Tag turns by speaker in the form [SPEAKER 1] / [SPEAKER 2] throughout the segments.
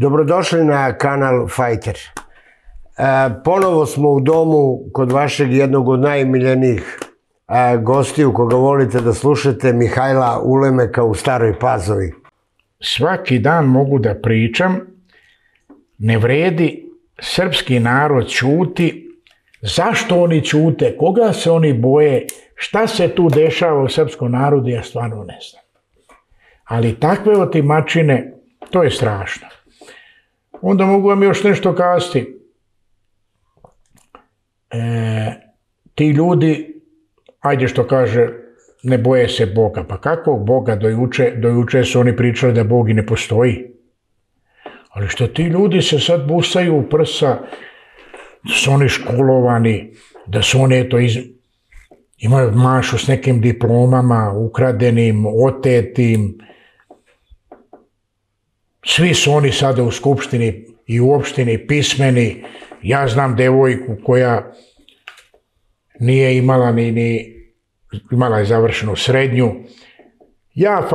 [SPEAKER 1] Dobrodošli na kanal Fighter. Ponovo smo u domu kod vašeg jednog od najmiljenijih gostiju koga volite da slušate, Mihajla Ulemeka u Staroj Pazovi.
[SPEAKER 2] Svaki dan mogu da pričam, ne vredi, srpski narod ćuti. Zašto oni ćute? Koga se oni boje? Šta se tu dešava u srpskom narodu? Ja stvarno ne znam. Ali takve otimačine, to je strašno. Onda mogu vam još nešto kazati. Ti ljudi, ajde što kaže, ne boje se Boga. Pa kakvog Boga? Do juče su oni pričali da Bog i ne postoji. Ali što ti ljudi se sad busaju u prsa, da su oni školovani, da su oni imaju mašu s nekim diplomama, ukradenim, otetim. Svi su oni sada u skupštini i u opštini pismeni. Ja znam devojku koja nije imala imala je završenu srednju. Ja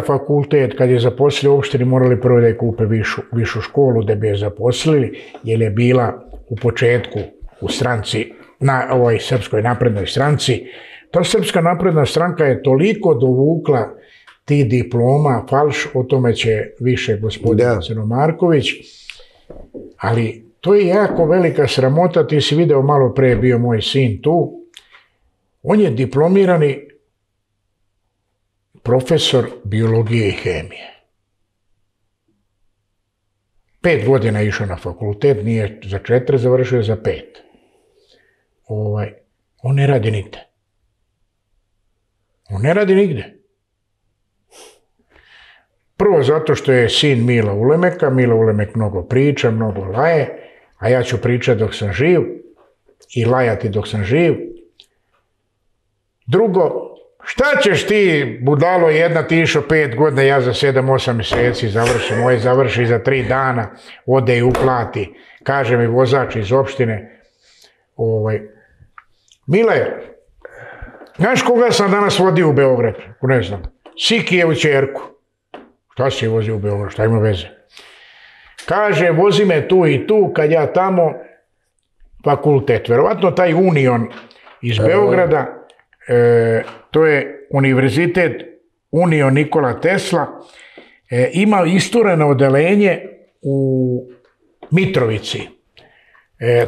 [SPEAKER 2] fakultet, kad je zaposlili u opštini, morali prvo da je kupe višu školu da bi je zaposlili, jer je bila u početku u stranci, na ovoj Srpskoj naprednoj stranci. Ta Srpska napredna stranka je toliko dovukla ti diploma, falš, o tome će više gospodin Crnomarković, ali to je jako velika sramota. Ti si video, malo pre bio moj sin tu, on je diplomirani profesor biologije i hemije. 5 godina išao na fakultet, nije za 4, završio za 5. On ne radi nigde. On ne radi nigde. Prvo zato što je sin Mila Ulemeka, Mila Ulemek mnogo priča, mnogo laje, a ja ću pričati dok sam živ i lajati dok sam živ. Drugo, šta ćeš ti, budalo jedna, ti išao 5 godina, ja za 7-8 mjeseci završim, moje završi za 3 dana, ode i uplati, kaže mi vozač iz opštine, Mile, znaš koga sam danas vodio u Beograd? Ne znam, Sikijevu ćerku. Šta si je vozio u Beograd, šta ima veze? Kaže, vozi me tu i tu, kad ja tamo, fakultet. Verovatno taj Union iz Beograda, to je univerzitet Union Nikola Tesla, ima istureno odelenje u Mitrovici.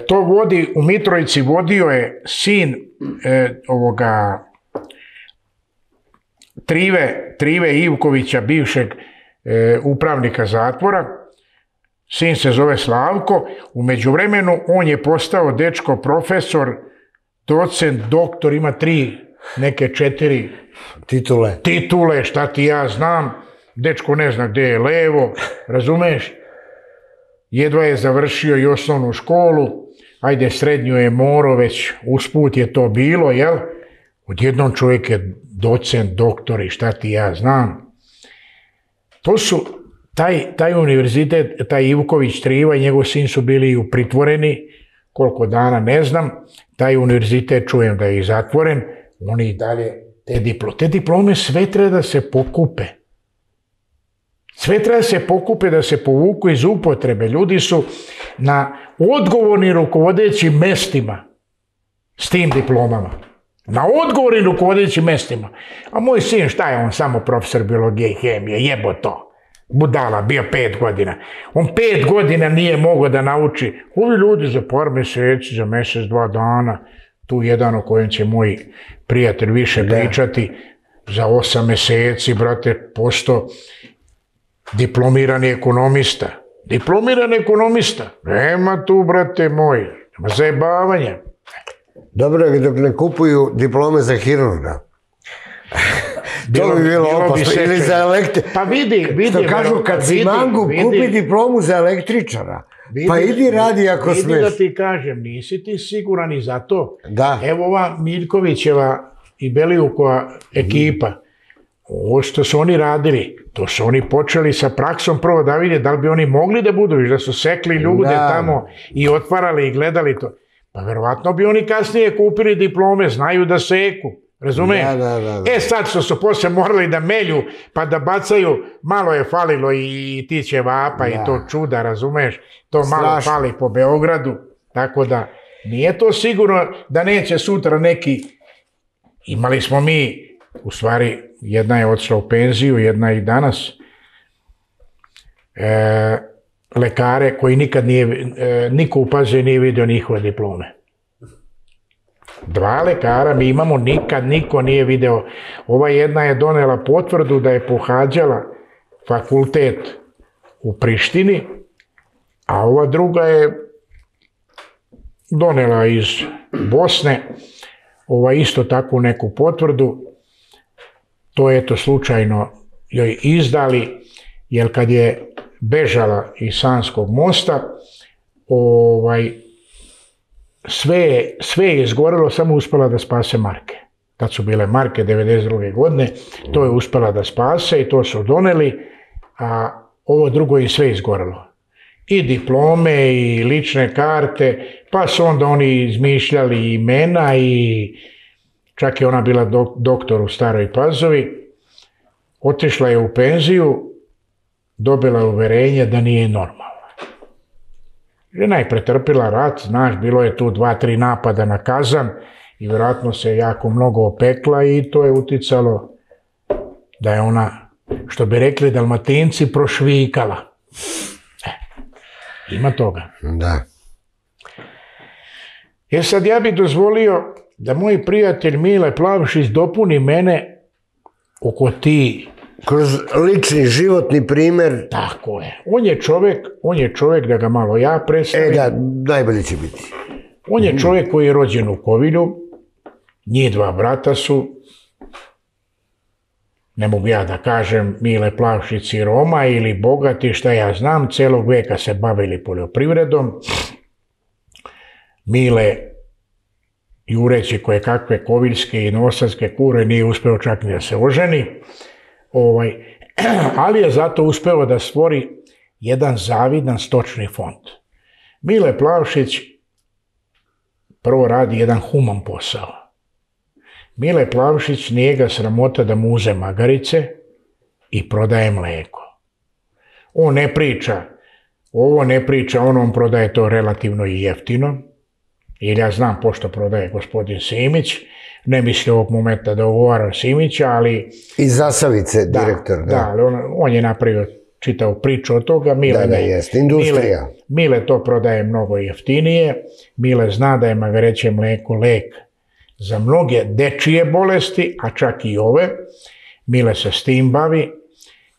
[SPEAKER 2] To vodi, u Mitrovici vodio je sin ovoga Trive Ivkovića, bivšeg upravnika zatvora. Sin se zove Slavko. U međuvremenu on je postao dečko profesor, docent, doktor, ima 4 titule, šta ti ja znam. Dečko ne zna gdje je levo, razumeš? Jedva je završio i osnovnu školu, ajde srednju je morao, već usput je to bilo, jel? Odjednom čovjek je docent, doktor i šta ti ja znam. To su, taj univerzitet, taj Ivković Triva i njegov sin su bili pritvoreni, koliko dana ne znam. Taj univerzitet čujem da je i zatvoren, oni i dalje te diplome sve treba da se pokupe. Sve treba da se pokupe, da se povuku iz upotrebe. Ljudi su na odgovornim rukovodećim mestima s tim diplomama. Na odgovornim rukovodećim mestima. A moj sin, šta je on, samo profesor biologije i hemije, jebo to. Budala, bio 5 godina. On 5 godina nije mogao da nauči. Ovi ljudi za par mjeseci, za mjesec, 2 dana, tu jedan o kojem će moj prijatelj više pričati, za 8 mjeseci, brate, posto diplomirani ekonomista. Diplomirani ekonomista. Nema tu, brate moj, nema zajebavanja.
[SPEAKER 1] Dobro, dok ne kupuju diplome za hirurga. To bi bilo opasno. Ili za električara.
[SPEAKER 2] Pa vidi.
[SPEAKER 1] Što kažu, kad si mangu, kupi diplomu za električara. Pa idi radi ako smeš.
[SPEAKER 2] Vidi da ti kažem, nisi ti siguran i za to.
[SPEAKER 1] Da.
[SPEAKER 2] Evo ova Miljkovićeva i Belijukova ekipa. Ovo što su oni radili, to su oni počeli sa praksom prvo da vidje da li bi oni mogli da budu, da su sekli ljude tamo i otvarali i gledali to. Pa verovatno bi oni kasnije kupili diplome, znaju da seku. Razumiješ?
[SPEAKER 1] Da.
[SPEAKER 2] Sad su poslije morali da melju, pa da bacaju, malo je falilo i ti ćevapa i to čuda, razumiješ? To malo fali po Beogradu, tako da nije to sigurno da neće sutra neki. Imali smo mi, u stvari, jedna je otišla u penziju, jedna i danas, lekare koji nikad niko u Pazinu nije vidio njihove diplome. 2 lekara mi imamo, nikad niko nije video. Ova jedna je donela potvrdu da je pohađala fakultet u Prištini, a ova druga je donela iz Bosne isto takvu neku potvrdu. To je to slučajno joj izdali, jer kad je bežala iz Sanskog mosta, sve je izgorelo, samo uspjela da spase marke. Tad su bile marke 92. godine, to je uspjela da spase i to su doneli, a ovo drugo je sve izgorelo. I diplome i lične karte, pa su onda oni izmišljali imena i čak je ona bila doktor u Staroj Pazovi. Otišla je u penziju, dobila uverenje da nije normalna. Žena je pretrpila rat, znaš, bilo je tu 2-3 napada na Kazan i vjerojatno se jako mnogo opekla i to je uticalo da je ona, što bi rekli Dalmatinci, prošvikala. Ima toga.
[SPEAKER 1] Da.
[SPEAKER 2] Sad ja bih dozvolio da moj prijatelj Mile Plavšić dopuni mene oko ti.
[SPEAKER 1] Kroz lični životni primjer.
[SPEAKER 2] Tako je. On je čovjek, da ga malo ja predstavim.
[SPEAKER 1] Da, najbolje će biti.
[SPEAKER 2] On je čovjek koji je rođen u Kovilju, njih 2 brata su, ne mogu ja da kažem Mile Plavšić i Roma ili bogati, šta ja znam, celog veka se bavili poljoprivredom. Mile, jureći koje kakve koviljske i novosadske kure, nije uspeo čak ni da se oženi, ali je zato uspeo da stvori jedan zavidan stočni fond. Mile Plavšić prvo radi jedan human posao. Mile Plavšić nije ga sramota da mu uze magarice i prodaje mlijeko. On ne priča ovo, ne priča ono, on prodaje to relativno i jeftino, jer ja znam pošto prodaje gospodin Simić, ne misli ovog momenta da ogovaram Simića, ali...
[SPEAKER 1] Iz Zasavice, direktor.
[SPEAKER 2] Da, on je napravio čitavu priču od toga.
[SPEAKER 1] Jest, industrija.
[SPEAKER 2] Mile to prodaje mnogo jeftinije. Mile zna da je magareće mlijeko lek za mnoge dečije bolesti, a čak i ove. Mile se s tim bavi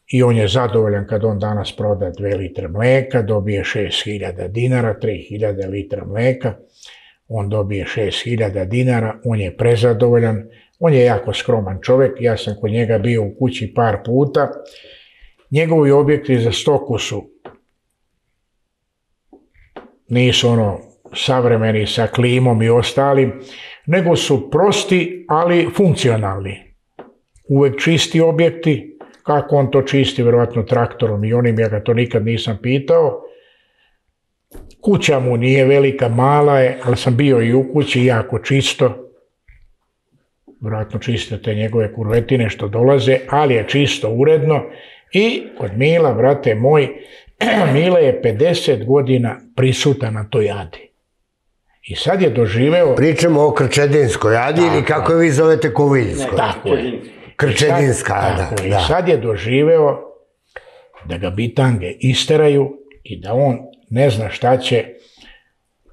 [SPEAKER 2] i on je zadovoljan kad on danas proda 2 litre mlijeka, dobije 6.000 dinara, 3.000 litra mlijeka. On dobije 6.000 dinara, on je prezadovoljan, on je jako skroman čovjek, ja sam kod njega bio u kući par puta. Njegovi objekti za stoku nisu savremeni sa klimom i ostalim, nego su prosti, ali funkcionalni. Uvek čisti objekti, kako on to čisti, vjerojatno traktorom i onim, ja ga to nikad nisam pitao. Kuća mu nije velika, mala je, ali sam bio i u kući, jako čisto. Vjerojatno čiste te njegove kurvetine što dolaze, ali je čisto, uredno. I kod Mila, brate moj, Mile je 50 godina prisutan na toj Adi. I sad je doživeo...
[SPEAKER 1] Pričamo o Krčedinskoj Adi ili kako vi zovete Koviljskoj.
[SPEAKER 2] Tako je.
[SPEAKER 1] Krčedinska Ada.
[SPEAKER 2] I sad je doživeo da ga bitange isteraju i da on ne zna šta će.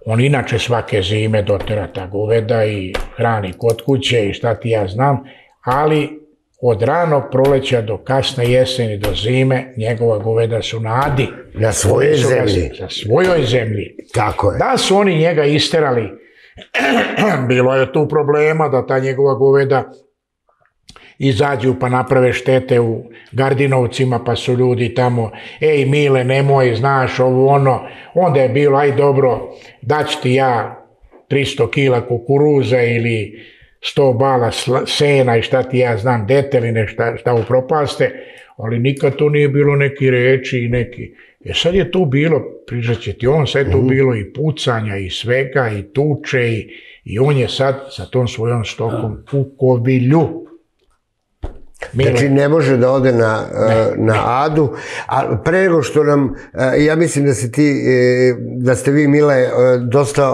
[SPEAKER 2] On inače svake zime dotera ta goveda i hrani kod kuće i šta ti ja znam, ali od ranog proleća do kasne jeseni do zime njegova goveda su na Adi.
[SPEAKER 1] Na svojoj zemlji.
[SPEAKER 2] Na svojoj zemlji.
[SPEAKER 1] Tako je.
[SPEAKER 2] Da su oni njega isterali, bilo je tu problema da ta njegova goveda izađu pa naprave štete u Gardinovcima, pa su ljudi tamo, ej Mile, nemoj, znaš, ovo ono, onda je bilo, aj dobro, daću ti ja 300 kila kukuruza ili 100 bala sena i šta ti ja znam, deteline, šta upropaste. ali nikad to nije bilo neki reči i neki. Sad je tu bilo, pričat će ti on, sad je tu bilo i pucanja i svega i tuče i on je sad sa tom svojom stokom u Kovilju.
[SPEAKER 1] Znači ne može da ode na Adu, a pre nego što nam, ja mislim da ste vi, Mile, dosta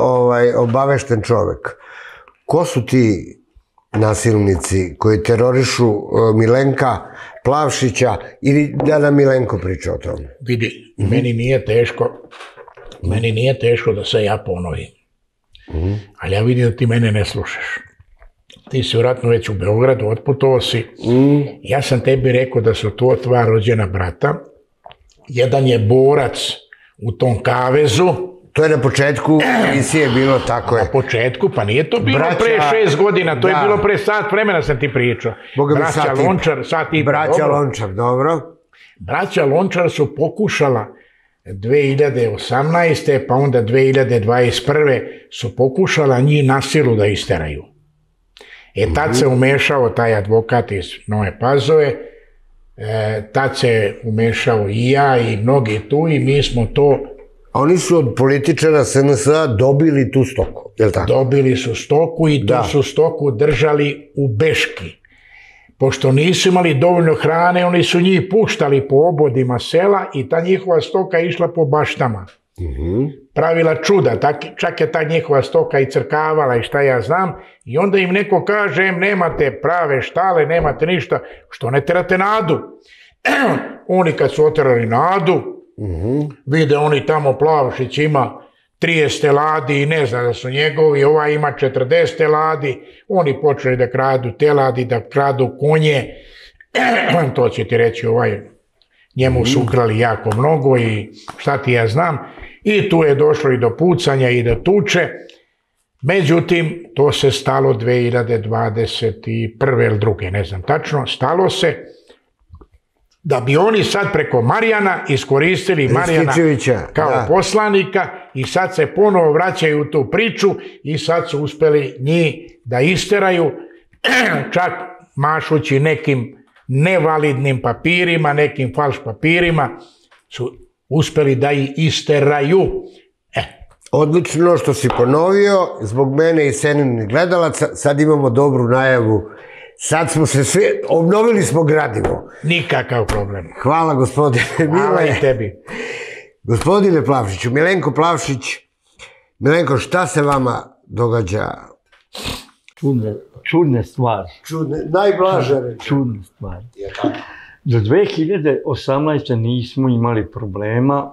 [SPEAKER 1] obavešten čovek. Ko su ti nasilnici koji terorišu Milenka Plavšića ili da nam Milenko priča o tome?
[SPEAKER 2] Vidi, meni nije teško da se ja ponovim, ali ja vidim da ti mene ne slušaš. Ti si vjerojatno već u Beogradu, otputovao si. Ja sam tebi rekao da su to dva rođena brata. Jedan je borac u tom kavezu.
[SPEAKER 1] To je na početku emisije bilo, tako je.
[SPEAKER 2] Na početku, pa nije to bilo pre 6 godina, to je bilo pre sat vremena sam ti pričao. Braća Lončar, sat i...
[SPEAKER 1] Braća Lončar, dobro.
[SPEAKER 2] Braća Lončar su pokušala 2018. pa onda 2021. su pokušala njih na silu da isteraju. Tad se umešao taj advokat iz Nove Pazove, tad se umešao i ja i mnogi tu i mi smo to...
[SPEAKER 1] Oni su od političara SNS-a dobili tu stoku, je li tako?
[SPEAKER 2] Dobili su stoku i tu su stoku držali u beški. Pošto nisu imali dovoljno hrane, oni su njih puštali po obodima sela i ta njihova stoka išla po baštama. Pravila čuda, čak je ta njihova stoka i crkavala i šta ja znam, i onda im neko kaže, nemate prave štale, nemate ništa, što ne terate Nadu? Oni kad su oterali Nadu, vide oni tamo Plavšić ima 30 teladi i ne zna da su njegovi, ovaj ima 40 teladi, oni počeli da kradu teladi, da kradu konje, to će ti reći njemu su ukrali jako mnogo i šta ti ja znam, i tu je došlo i do pucanja i do tuče, međutim to se stalo 2021. ili druge, ne znam tačno, stalo se da bi oni sad preko Marijana iskoristili Marijana kao poslanika i sad se ponovo vraćaju u tu priču i sad su uspeli njih da isteraju, čak mašući nekim nevalidnim papirima, nekim falš papirima, su uspeli da ih isteraju.
[SPEAKER 1] Odlično što si ponovio, zbog mene i Seninih gledalaca, sad imamo dobru najavu. Sad smo se svi, obnovili smo gradivo.
[SPEAKER 2] Nikakav problem.
[SPEAKER 1] Hvala gospodine Mile.
[SPEAKER 2] Hvala i tebi.
[SPEAKER 1] Gospodine Plavšiću, Milenko Plavšić, Milenko, šta se vama događa?
[SPEAKER 3] Čudne stvari.
[SPEAKER 1] Najblaže reći.
[SPEAKER 3] Čudne stvari. Do 2018. nismo imali problema.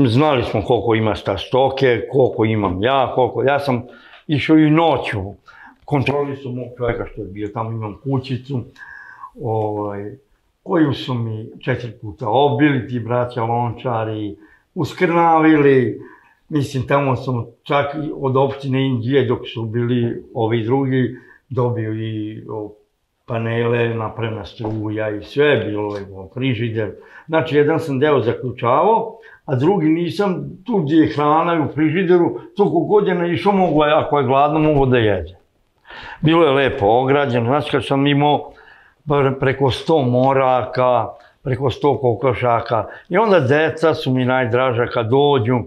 [SPEAKER 3] Znali smo koliko ima šta stoke, koliko imam ja, ja sam išao i noću. Kontrolisao mog čovjeka što je bio tamo, imam kućicu, koju su mi 4 puta obili ti braća Lončari, uskrnavili. Mislim, tamo sam čak od opštine Inđije, dok su bili ovi drugi, dobio i panele, napravljena struja i sve, bilo je frižider. Znači, jedan sam deo zaključavao, a drugi nisam, tu gdje je hrana u frižideru, tu kogod je naišao mogu, ako je gladno, mogu da jede. Bilo je lepo ograđeno, znači kad sam imao preko 100 moraka, preko 100 kokošaka i onda deca su mi najdraža kad dođu,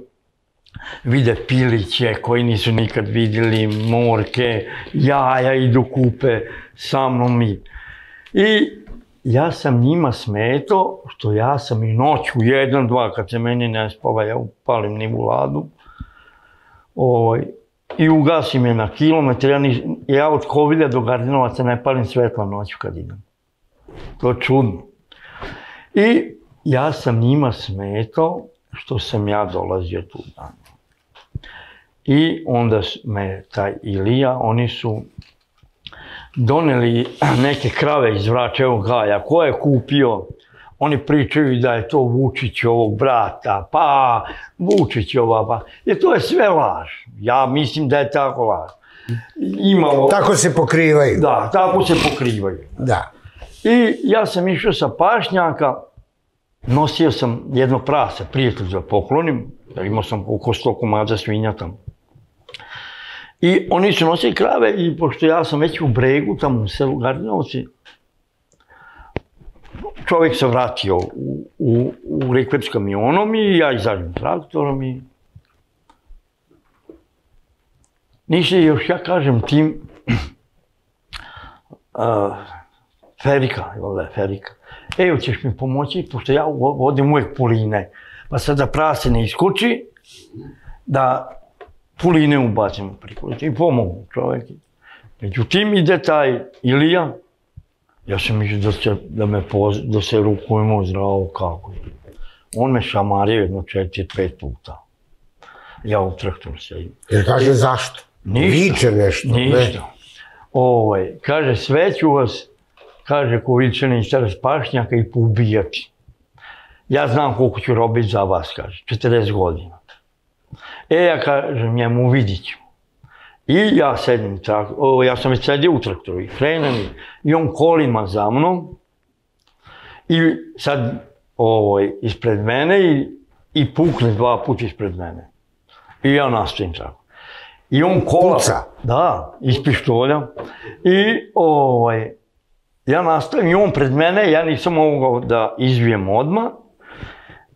[SPEAKER 3] vide piliće koji nisu nikad vidjeli, morke, jaja idu kupe sa mnom i ja sam njima smetao što ja sam i noću 1, 2 kad se meni ne spava ja upalim nivuladu i ugasim je na kilometar, ja od Kovilja do Gardinovaca ne palim svetla noću kad idem. To je čudno. I ja sam njima smetao što sam ja dolazio tu dan. I onda me taj Ilija, oni su doneli neke krave iz Vračevog gaja. Ko je kupio? Oni pričaju da je to Vučićovog brata, pa Vučićova, pa... Jer to je sve laž. Ja mislim da je tako laž.
[SPEAKER 1] Tako se pokrivaju.
[SPEAKER 3] Da, tako se pokrivaju.
[SPEAKER 1] Da.
[SPEAKER 3] I ja sam išao sa pašnjaka, nosio sam jedno prase, prijatelj da poklonim, imao sam oko 100 komada svinja tamo. I oni su nosili krave i pošto ja sam već u Bregu, tamo u selu Gardinovci, čovjek se vratio u Rikverc s kamionom i ja izađem traktorom i... Ništa još ja kažem tim... Ferika, evo ćeš mi pomoći, pošto ja vodim uvijek puline, pa sad da prase ne iskoči, da puline ubacimo priko. I pomogu čovjek. Međutim, ide taj Ilija, ja sam mislio da se rukujemo zdravo kako je. On me šamario jedno 4-5 puta. Ja u traktoru sedim.
[SPEAKER 1] Jer kaže zašto? Viče nešto.
[SPEAKER 3] Ništa. Kaže, sve ću vas, kaže, ko vičani stara spašnjaka i poubijati. Ja znam koliko ću robiti za vas, kaže, 40 godina. Ja kažem njemu, vidit ću. I ja sedim, ja sam već sedio u traktoru i krenem i on kolima za mnom i sad ispred mene i pukne 2 puta ispred mene. I ja nastavim tako. I on kola...
[SPEAKER 1] Puca?
[SPEAKER 3] Da, iz pištolja. I ja nastavim i on pred mene, ja nisam mogao da izvijem odmah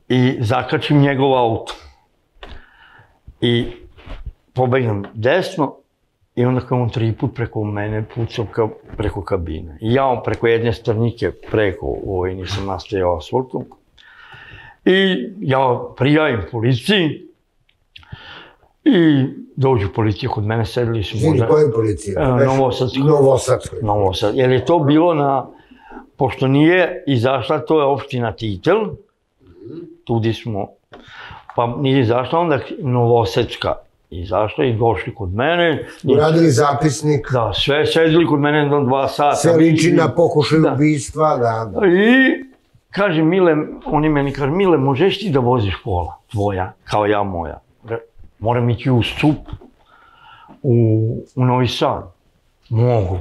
[SPEAKER 3] i zakačim njegov auto. I pobegnem desno i onda kao on 3 put preko mene pucao preko kabine. I ja preko jedne strnike preko, nisam nastajao asfaltom. I ja prijavim policiji i dođu policija kod mene, sedeli su možda...
[SPEAKER 1] Koju policiju?
[SPEAKER 3] Novosadskoj. Jer je to bilo na... Pošto nije izašla, to je opština Titel, tudi smo, pa nije izašla, onda Novosadska izašla i došli kod mene.
[SPEAKER 1] Uradili zapisnik.
[SPEAKER 3] Da, sve sedeli kod mene do 2 sata.
[SPEAKER 1] Sve liči na pokušaj ubistva, da.
[SPEAKER 3] I kaže Mile, oni meni kaže, Mile, možeš ti da voziš kola tvoja, kao ja moja? Moram ići u Stup, u Novi Sad. Mogu.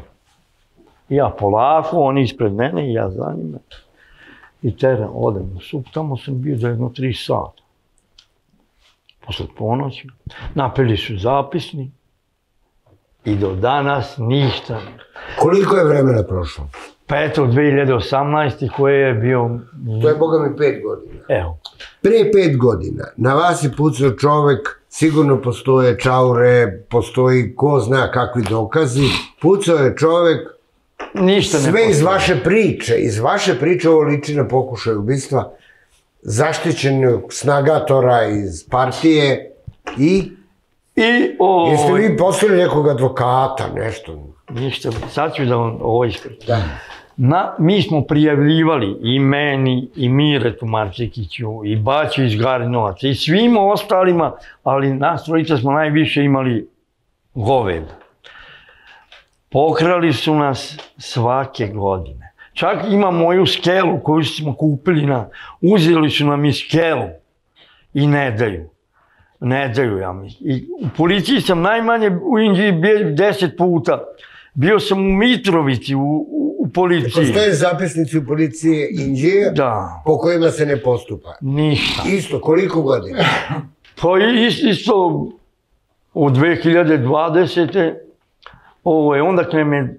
[SPEAKER 3] Ja polako, oni ispred mene i ja za njima. I odem u Stup, tamo sam bio za jedno 3 sata. Posle ponoći, napili su zapisnik i do danas ništa.
[SPEAKER 1] Koliko je vremena prošlo?
[SPEAKER 3] Pa eto, 2018. koje je bio...
[SPEAKER 1] To je, boga mi, 5 godina.
[SPEAKER 3] Evo.
[SPEAKER 1] Pre 5 godina na vas je pucao čovek, sigurno postoje čaure, postoji ko zna kakvi dokazi. Pucao je čovek, sve iz vaše priče, ovo liči na pokušaj ubistva, zaštićenog snagatora iz partije i... Jeste vi poslali nekog advokata, nešto?
[SPEAKER 3] Ništa, sad ću da vam ovo ispričam. Mi smo prijavljivali i meni, i Miretu Marčikiću, i Baću iz Garinovaca, i svim ostalima, ali nas trojica smo najviše imali goveda. Pokrali su nas svake godine. Čak ima moju skelu koju smo kupili, uzeli su nam i skelu i ne daju. Ne daju, ja mislim. I u policiji sam najmanje u Inđiji bio 10 puta. Bio sam u Mitrovici, u policiji.
[SPEAKER 1] Postoje zapisnici u policiji Inđije po kojima se ne postupa?
[SPEAKER 3] Ništa.
[SPEAKER 1] Isto, koliko godina?
[SPEAKER 3] Pa isto od 2020. Onda kreme,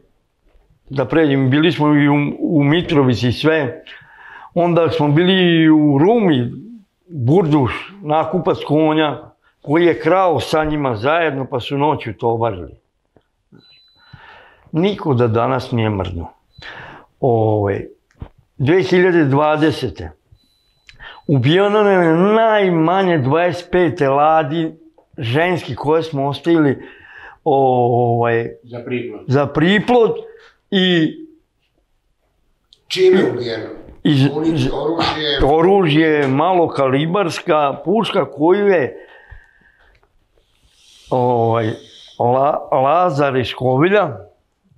[SPEAKER 3] da pređem, bili smo i u Mitrovici i sve. Onda smo bili u Rumi, Burduš, nakupac konja, koji je krao sa njima zajedno, pa su noću to obarili. Niko da danas nije mrdnuo. 2020. ubijeno je najmanje 25 teladi ženski koje smo ostavili za priplod i...
[SPEAKER 1] Čime je ubijeno?
[SPEAKER 3] Oružje, malokalibarska puška koju je Lazar iz Kovilja,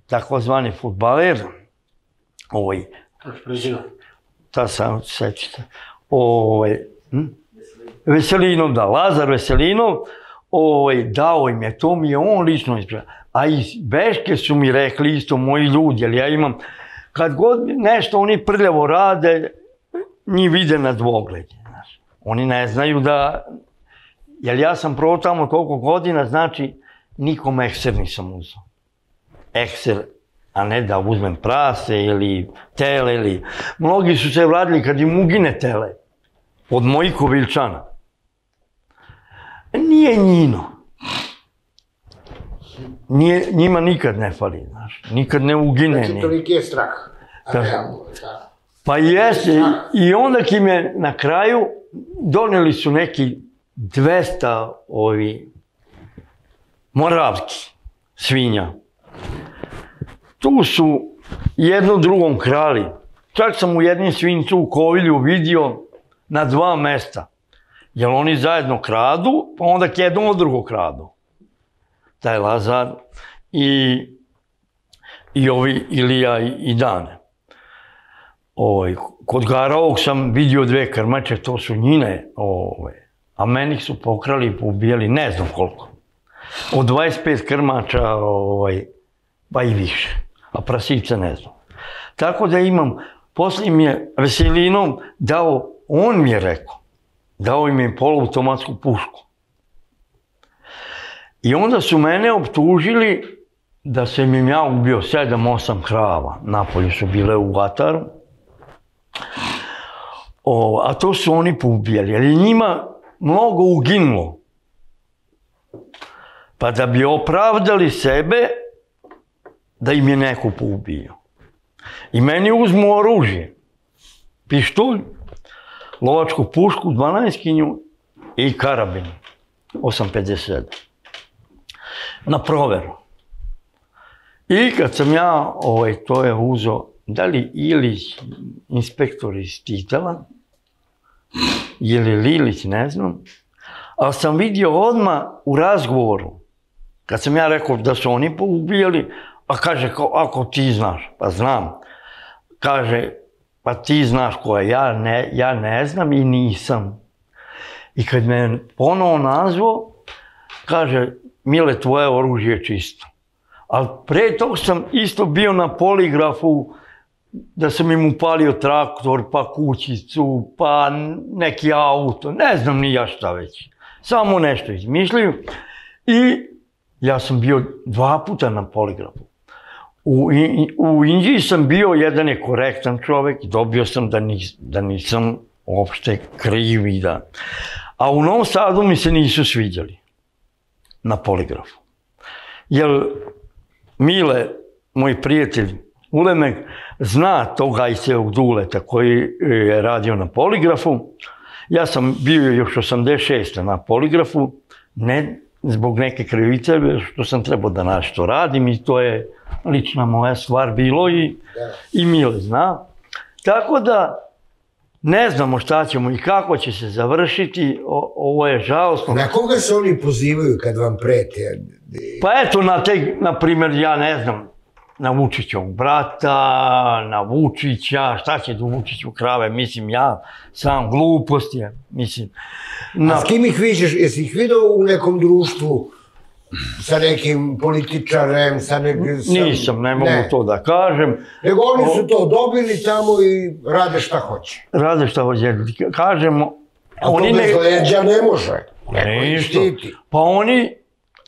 [SPEAKER 3] takozvani fudbaler, ta sam sećate, Veselinov, da, Lazar Veselinov, dao im je, to mi je on lično ispravio. A iz Beške su mi rekli isto moji ljudi, jer ja imam, kad god nešto oni prljavo rade, njih vide na dvogled. Oni ne znaju da, jer ja sam prvo tamo toliko godina, znači nikom ekser nisam uzao. Ekser a ne da uzmem prase ili tele ili... Mnogi su se vratili kad im ugine tele, od mojih Koviljčana. Nije njino. Njima nikad ne fali, znaš, nikad ne ugine.
[SPEAKER 1] Znači, toliki je strah.
[SPEAKER 3] Pa jeste, i onda kim je na kraju doneli su neki 200 moravski svinja. Tu su jedno drugom krali. Čak sam u jednim svincu u Kovilju vidio na 2 mesta. Jer oni zajedno kradu, pa onda jedno od drugog kradu. Taj Lazar i ovi Ilija i Dane. Kod Garovog sam vidio 2 krmače, to su njine, a meni su pokrali i poubijali ne znam koliko. Od 25 krmača, pa i više, a prasice ne znam. Tako da imam, poslije mi je Veselinom dao, on mi je rekao, dao im je poluautomatsku pušku. I onda su mene optužili da sam im ja ubio 7-8 krava. Napolju su bile u Ataru. A to su oni poubijali, jer je njima mnogo uginulo. Pa da bi opravdali sebe, da im je neko poubio. I meni uzmu oružje, pištolj, lovačku pušku, 12-kinju i karabin, 8,57. Na proveru. I kad sam ja to je uzeo, da li Ilić, inspektor iz Titela, ili Lilić, ne znam, ali sam vidio odmah u razgovoru, kad sam ja rekao da su oni poubijali, a kaže, ako ti znaš, pa znam, kaže, pa ti znaš ko je, ja ne znam i nisam. I kad me ponovo nazvao, kaže, Mile, tvoje oružje je čisto. Ali pre toga sam isto bio na poligrafu, da sam im upalio traktor, pa kućicu, pa neki auto, ne znam ni ja šta već. Samo nešto izmišljaju. I ja sam bio 2 puta na poligrafu. U Inđiji sam bio, jedan je korektan čovek, dobio sam da nisam uopšte kriv i da... A u Novom Sadu mi se nisu sviđali na poligrafu. Jer Mile, moj prijatelj Ulemek, zna tog Ajsevog Duleta koji je radio na poligrafu. Ja sam bio još 86. na poligrafu, ne zbog neke krivice, što sam trebao da nešto radim i to je lična moja stvar bilo i Mile zna. Tako da ne znamo šta ćemo i kako će se završiti, ovo je žalostno.
[SPEAKER 1] Na koga se oni pozivaju kad vam prete?
[SPEAKER 3] Pa eto, na primjer, ja ne znam, na Vučićovog brata, na Vučića, šta će do Vučiću krave, mislim ja, sam glupost je, mislim.
[SPEAKER 1] A s kim ih viđeš, jesi ih vidio u nekom društvu sa nekim političarem, sa nekim...
[SPEAKER 3] Nisam, ne mogu to da kažem.
[SPEAKER 1] Nego oni su to dobili tamo i rade šta hoće.
[SPEAKER 3] Rade šta hoće, kažemo...
[SPEAKER 1] A to bez leđa ne može, neko ih štiti.
[SPEAKER 3] Pa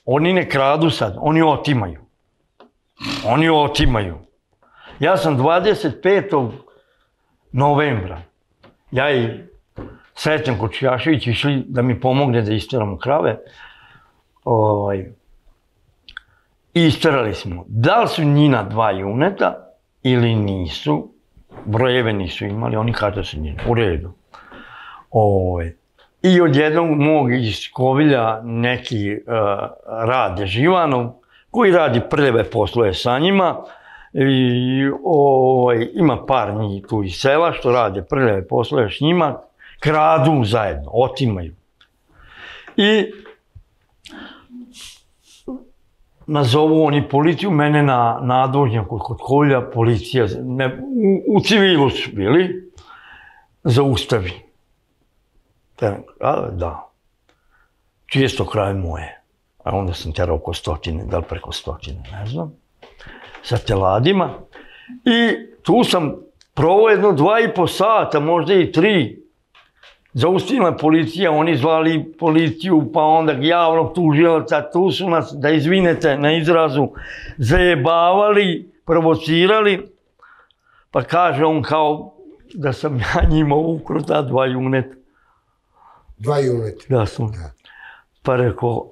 [SPEAKER 3] oni ne kradu sad, oni otimaju. Oni otimaju. Ja sam 25. novembra, ja i Sreten Kočijašević išli da mi pomogne da isteramo krave. I isterali smo. Da li su njina 2 juneta ili nisu, brojeve nisu imali, oni kažu da su njina, u redu. I od jednog mog iz Kovilja neki Rade Živanov, koji radi prljave poslove sa njima, ima par njih tu iz sela što rade prljave poslove s njima, kradu zajedno, otimaju. I nazovu oni policiju, mene na nadvožnjaku kod Kovilja, policija, u civilu su bili, zaustavi. Da. Čije su to krave moje? A onda sam terao oko 100, da li preko 100, ne znam, sa teladima. I tu sam provao jedno 2,5 sata, možda i 3. Zaustavila policija, oni zvali policiju, pa onda javnog tužilaca, tu su nas, da izvinete na izrazu, zajebavali provocirali, pa kaže on kao da sam ja njima ukro ta 2 juneta.
[SPEAKER 1] 2 juneta?
[SPEAKER 3] Da sam. Pa rekao,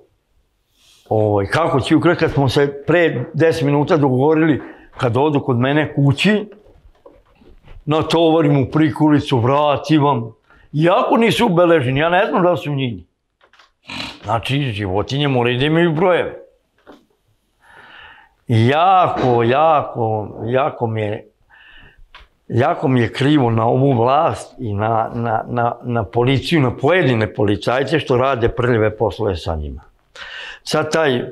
[SPEAKER 3] kako ću ukrati kad smo se pre 10 minuta dogovorili kad odu kod mene kući, natovarim u prikolicu, vratim vam. Iako nisu ubeleženi, ja ne znam da li su njini. Znači, životinje moraju da imaju brojeve. I jako mi je krivo na ovu vlast i na policiju, na pojedine policajce što rade prljave poslove sa njima. Sad taj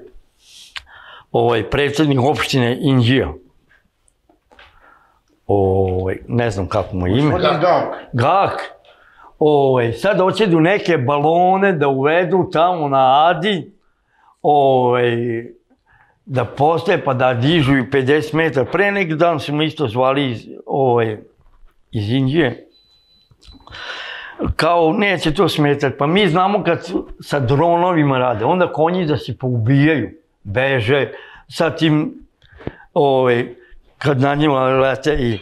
[SPEAKER 3] predsjednik opštine Inđija, ne znam kako mu je ime. Gak. Sad hoće neke balone da uvedu tamo na Adi, da postaje pa da dižu i 50 metara. Pre neki dan su me isto zvali iz Indije. Kao neće to smetati. Pa mi znamo kad sa dronovima rade, onda konji da se poubijaju, beže, sa tim, kad na njima lete i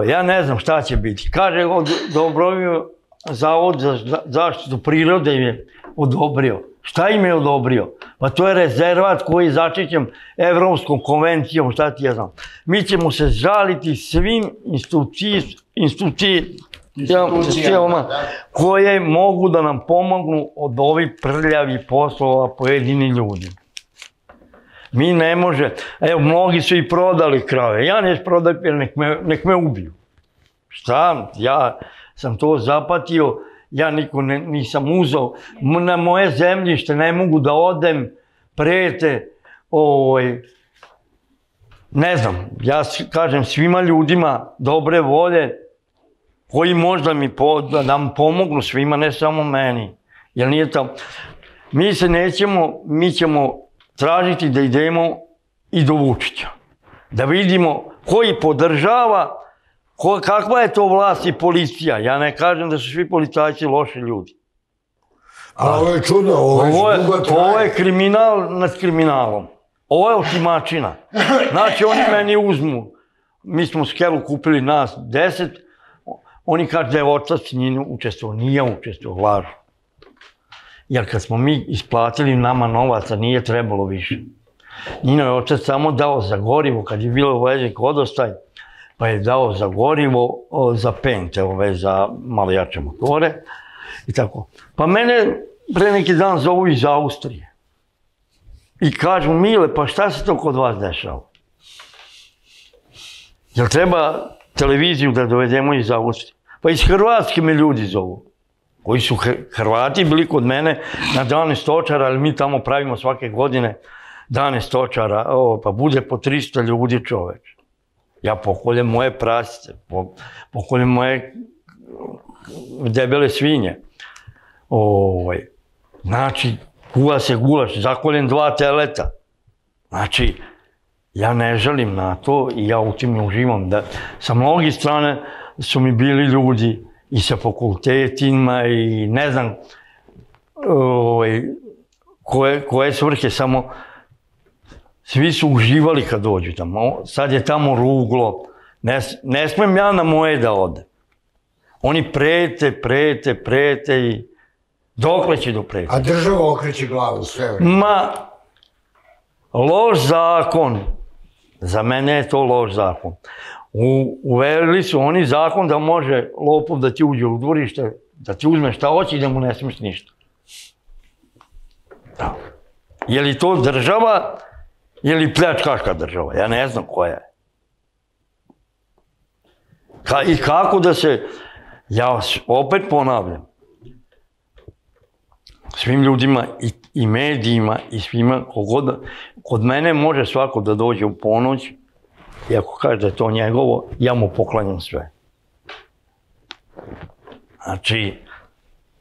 [SPEAKER 3] ja ne znam šta će biti. Kaže, odobrio Zavod za zaštitu prirode im je odobrio. Šta im je odobrio? Pa to je rezervat koji je zaštićen Evropskom konvencijom, šta ti ja znam. Mi ćemo se žaliti svim institucijama koje mogu da nam pomognu od ovih prljavih poslova pojedini ljudi. Mi ne može, evo mnogi su i prodali krave, ja neću prodati jer nek me ubiju. Šta? Ja sam to zapatio, ja niko nisam uzao, na moje zemljište ne mogu da odem, prete, ne znam, ja kažem svima ljudima dobre volje, koji možda da nam pomognu svima, ne samo meni, jer nije tamo. Mi se nećemo, mi ćemo tražiti da idemo i do Vučića, da vidimo koji podržava, kakva je to vlast i policija. Ja ne kažem da su svi policajci loši ljudi.
[SPEAKER 1] A ovo je čudno,
[SPEAKER 3] ovo je kriminal nad kriminalom. Ovo je otimačina. Znači oni meni uzmu, mi smo Skelu kupili nas 10, oni kažu da je otac njih učestvovao, nije učestvovao, lažu. Jer kad smo mi isplatili nama novaca, nije trebalo više. Njino je otac samo dao za gorivo, kad je bilo velik vodostaj, pa je dao za gorivo, za pente, za malo jače motore i tako. Pa mene pre neki dan zovu iz Austrije i kažu, Mile, pa šta se to kod vas dešava? Jel treba televiziju da dovedemo iz Austrije? Pa iz Hrvatske me ljudi zovu, koji su Hrvati bili kod mene na dane stočara, ali mi tamo pravimo svake godine dane stočara, pa bude po 300 ljudi čoveč. Ja pokoljem moje prasice, pokoljem moje debele svinje. Znači, kuva se gulaš, zakoljem 2 teleta. Znači, ja ne želim na to i ja u tim uživam. Sa mnogih strane su mi bili ljudi i sa fakultetima i ne znam koje svrhe, samo svi su uživali kad dođu tamo. Sad je tamo ruglo. Ne smem ja na moje da ode. Oni prete i dokle će do prete.
[SPEAKER 1] A država okreće glavu sve vreme.
[SPEAKER 3] Ma, loš zakon. Za mene je to loš zakon. Uveli su oni zakon da može lopov da ti uđe u dvorište, da ti uzme šta hoće i da mu ne smiješ ništa. Je li to država ili pljačkaška država? Ja ne znam koja je. I kako da se, ja opet ponavljam, svim ljudima i medijima i svima, kod mene može svako da dođe u ponoć i ako kaže da je to njegovo, ja mu poklanjam sve. Znači,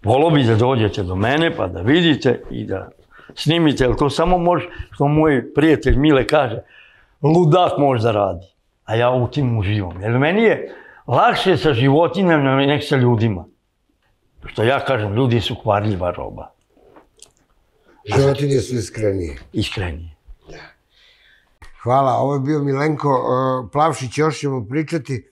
[SPEAKER 3] volio bi da dođete do mene pa da vidite i da snimite, jer to samo može, što moj prijatelj Mile kaže, ludak može da radi, a ja u tim uživam. Jer meni je lakše sa životinjama nek sa ljudima. Što ja kažem, ljudi su kvarljiva roba.
[SPEAKER 1] Životinje su iskrenije.
[SPEAKER 3] Iskrenije.
[SPEAKER 1] Hvala, ovo je bio Milenko Plavšić, još ćemo pričati.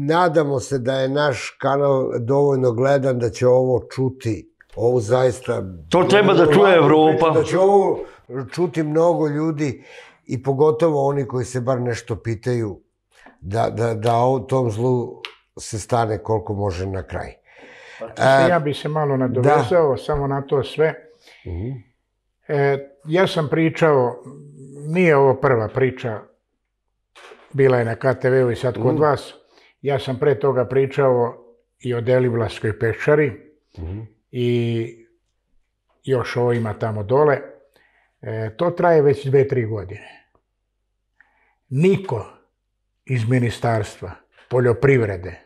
[SPEAKER 1] Nadamo se da je naš kanal dovoljno gledan, da će ovo čuti, ovo zaista...
[SPEAKER 3] To treba da čuje Evropa.
[SPEAKER 1] Da će ovo čuti mnogo ljudi i pogotovo oni koji se bar nešto pitaju, da o tom zlu se stane koliko može na kraj.
[SPEAKER 2] Ja bi se malo nadovezao samo na to sve. Ja sam pričao, nije ovo prva priča, bila je na KTV-u i sad kod vas. Ja sam pre toga pričao i o Deliblatskoj peščari i još ovima tamo dole. To traje već 2-3 godine. Niko iz Ministarstva poljoprivrede,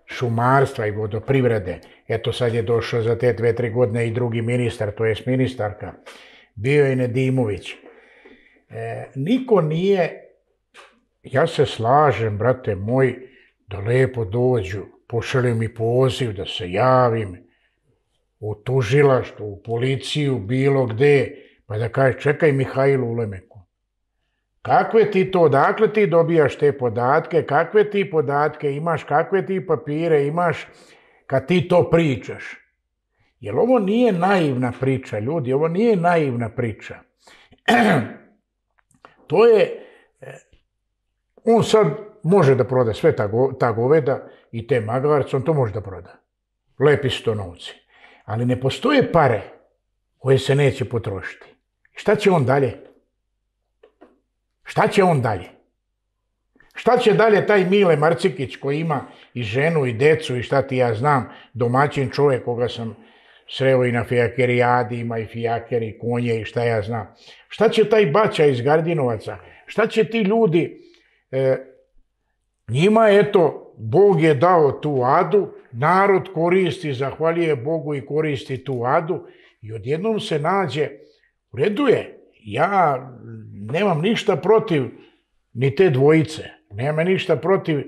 [SPEAKER 2] šumarstva i vodoprivrede, eto sad je došao za te 2-3 godine i drugi ministar, to jest ministarka, bio je Nedimović. Niko nije, ja se slažem, brate moj, da lepo dođu, pošalju mi poziv da se javim u tužilaštvu, u policiju, bilo gde, pa da kaže, čekaj Mihajlu Ulemeku, kakve ti to, odakle ti dobijaš te podatke, kakve ti podatke imaš, kakve ti papire imaš kad ti to pričaš? Jer ovo nije naivna priča, ljudi, ovo nije naivna priča. To je, on sad može da proda sve ta goveda i te magarce, on to može da proda. Lepi su to novci. Ali ne postoje pare koje se neće potrošiti. Šta će on dalje? Šta će on dalje? Šta će dalje taj Mile Marcikić koji ima i ženu i decu i šta ti ja znam, domaćin čovjek koga sam sreo i na fijakerijadi, ima i fijakeri, i konje i šta ja znam. Šta će taj Baća iz Gardinovaca? Šta će ti ljudi? Njima, eto, Bog je dao tu adu, narod koristi, zahvaljuje Bogu i koristi tu adu i odjednom se nađe, u redu je, ja nemam ništa protiv ni te dvojice, nemam ništa protiv,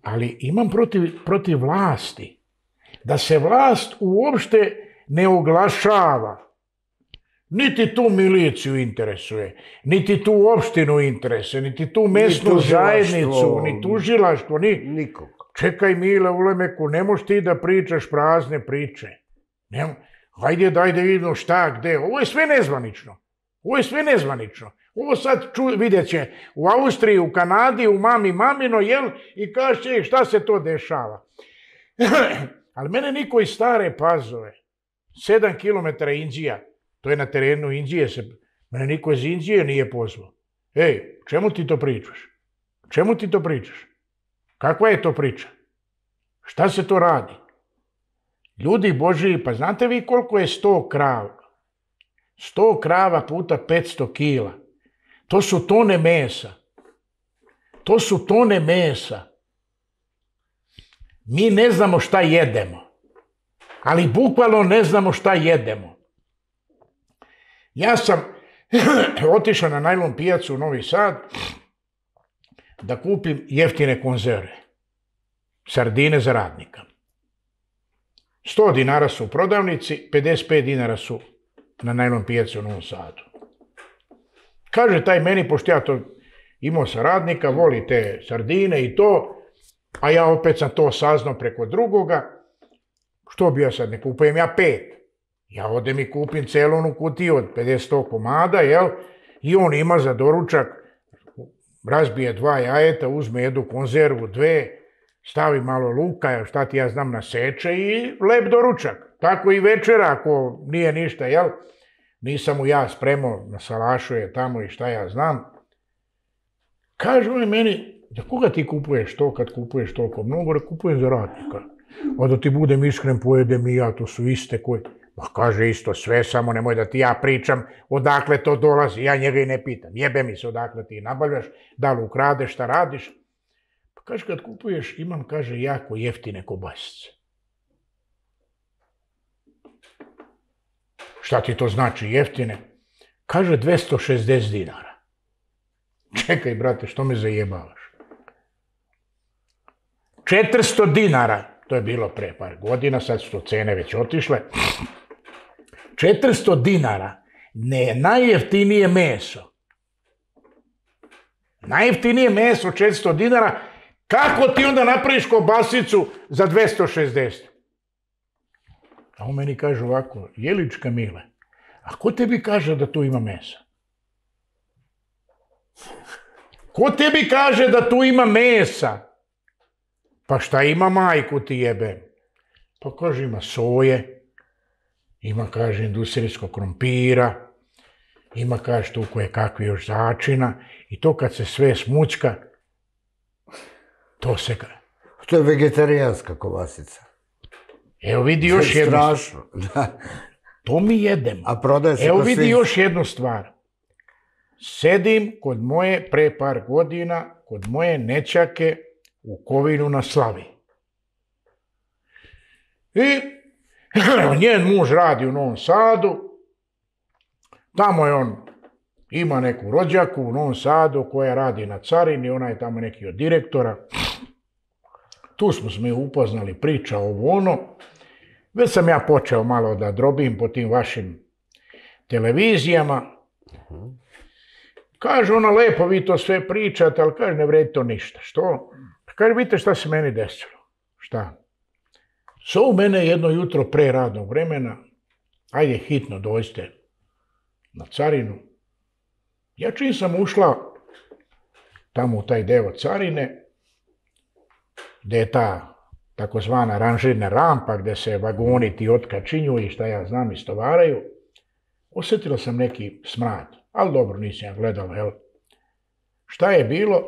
[SPEAKER 2] ali imam protiv vlasti. Da se vlast uopšte ne oglašava. Niti tu miliciju interesuje, niti tu opštinu interesuje, niti tu mesnu zajednicu, ni tužilaštvo, ni...
[SPEAKER 1] Nikog.
[SPEAKER 2] Čekaj Mile Ulemeku, ne moš ti da pričaš prazne priče. Hajde, daj da vidimo šta, gde. Ovo je sve nezvanično. Ovo je sve nezvanično. Ovo sad vidjet će u Austriji, u Kanadi, u mamino, jel? I kaže, šta se to dešava? Ali mene niko iz Stare Pazove, 7 km Inđija, to je na terenu Inđije, mene niko iz Inđije nije pozvao. Ej, čemu ti to pričaš? Čemu ti to pričaš? Kakva je to priča? Šta se to radi? Ljudi Božiji, pa znate vi koliko je 100 krava? 100 krava puta 500 kila. To su tone mesa. To su tone mesa. Mi ne znamo šta jedemo. Ali bukvalno ne znamo šta jedemo. Ja sam otišao na najlon pijacu u Novi Sad da kupim jeftine konzerve. Sardine za radnika. 100 dinara su u prodavnici, 55 dinara su na najlon pijacu u Novom Sadu. Kaže taj meni, pošto ja to imao sa radnika, voli te sardine i to, a ja opet sam to saznao preko drugoga, što bi ja sad, ne kupujem ja 5. Ja odem i kupim celu onu kutiju od 50 komada, jel? I on ima za doručak, razbije 2 jajeta, uzme jednu konzervu, 2, stavi malo luka, šta ti ja znam, naseče i lep doručak. Tako i večera, ako nije ništa, jel? Nisam mu ja spremao, na salašu je tamo i šta ja znam. Kaže on meni, za koga ti kupuješ to kad kupuješ toliko mnogo? Kupujem za radnika. A da ti budem iskren, pojedem i ja, to su iste koji... Pa kaže isto sve, samo nemoj da ti ja pričam odakle to dolazi, ja njega i ne pitam. Jebe mi se odakle ti nabavljaš, da li ukradeš, šta radiš. Pa kaže kad kupuješ, imam, kaže, jako jeftine kobasice. Šta ti to znači jeftine? Kaže 260 dinara. Čekaj, brate, što me zajebavaš? 400 dinara, to je bilo pre par godina, sad su to cene već otišle. 400 dinara Ne, najjeftinije meso. Najjeftinije meso, 400 dinara. Kako ti onda napraviš kobasicu za 260? A on meni kaže ovako, Jelička Mile, a ko tebi kaže da tu ima mesa? Ko tebi kaže da tu ima mesa? Pa šta ima, majku ti jebem? Pa kaže ima soje, ima kaže industrijskog krompira, ima kaže tu koje kakvi još začina i to kad se sve smućka, to se...
[SPEAKER 1] To je vegetarijanska kobasica.
[SPEAKER 2] Evo vidi još jednu stvar.
[SPEAKER 1] Strašno, da.
[SPEAKER 2] To mi jedemo.
[SPEAKER 1] A prodaje se
[SPEAKER 2] Evo
[SPEAKER 1] kod
[SPEAKER 2] vidi
[SPEAKER 1] svih.
[SPEAKER 2] još jednu stvar. Sedim kod moje, pre par godina, kod moje nećake u Kovinu na Slavi. I njen muž radi u Novom Sadu. Tamo je on, ima neku rođaku u Novom Sadu koja radi na carini, ona je tamo neki od direktora. Tu smo se mi upoznali, priča ovo ono. Već sam ja počeo malo da drobim po tim vašim televizijama. Kaže ona, lepo vi to sve pričate, ali kaže ne vredi to ništa. Što? Kaže, vidite šta se meni desilo. Šta? Zovu mene jedno jutro pre radnog vremena, ajde hitno dođite na carinu. Ja čim sam ušla tamo u taj deo carine, gdje je ta takozvana ranžirna rampa, gdje se vagoni ti otkačinju i šta ja znam istovaraju, osjetila sam neki smrad, ali dobro nisam ja gledala, jel? Šta je bilo?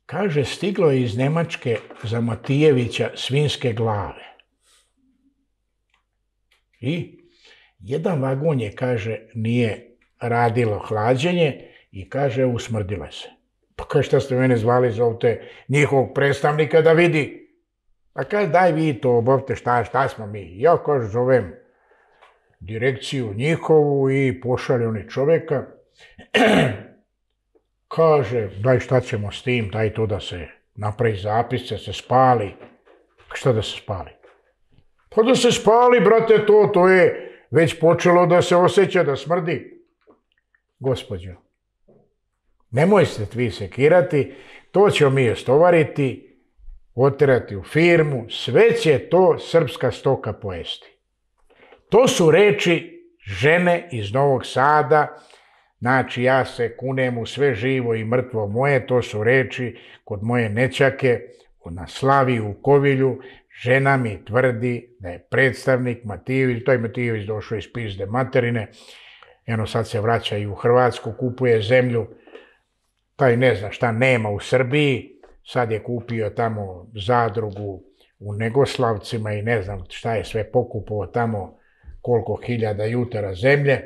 [SPEAKER 2] Kaže, stiglo je iz Njemačke za Matijevića svinjske glave. I jedan vagon je, kaže, nije radilo hlađenje i kaže, usmrdile se. Pa kaže, šta ste mene zvali, zovte njihovog predstavnika da vidi. Pa kaže, daj vi to, obavite šta smo mi. Ja, kaže, zovem direkciju njihovu i pošalje oni čovjeka. Kaže, daj šta ćemo s tim, daj to da se napravi zapis, da se spali. Šta da se spali? Pa da se spali, brate, to je već počelo da se osjeća, da smrdi. Gospođo, nemoj se vi sekirati, to ćemo mi istovariti, oterati u firmu, sve će to srpska stoka pojesti. To su reči žene iz Novog Sada, znači ja se kunem u sve živo i mrtvo moje, to su reči kod moje nećake na Slavi u Kovilju. Žena mi tvrdi da je predstavnik Matijević, to je Matijević došao iz pizde materine, eno sad se vraća i u Hrvatsku, kupuje zemlju, taj ne zna šta nema u Srbiji, sad je kupio tamo zadrugu u Negoslavcima i ne znam šta je sve pokupovao tamo, koliko hiljada jutara zemlje.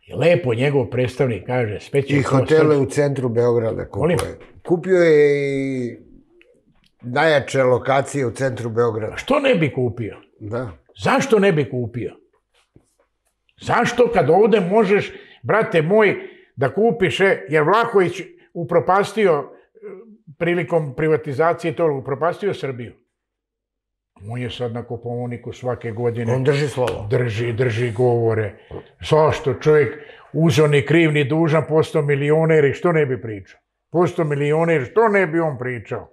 [SPEAKER 2] I lepo njegov predstavnik kaže, sve će...
[SPEAKER 1] I hotele u centru Beograda kupuje. Kupio je i najjače lokacije u centru Beograda.
[SPEAKER 2] Što ne bi kupio?
[SPEAKER 1] Da.
[SPEAKER 2] Zašto ne bi kupio? Zašto kad ovdje možeš, brate moj, da kupiš, jer Vlahović upropastio prilikom privatizacije to, upropastio Srbiju. On je sad na Kopaoniku svake godine.
[SPEAKER 1] On drži slovo.
[SPEAKER 2] Drži govore. Zašto čovjek uzeo ni kriv ni dužan, postao milioner i što ne bi pričao? Postao milioner, što ne bi on pričao?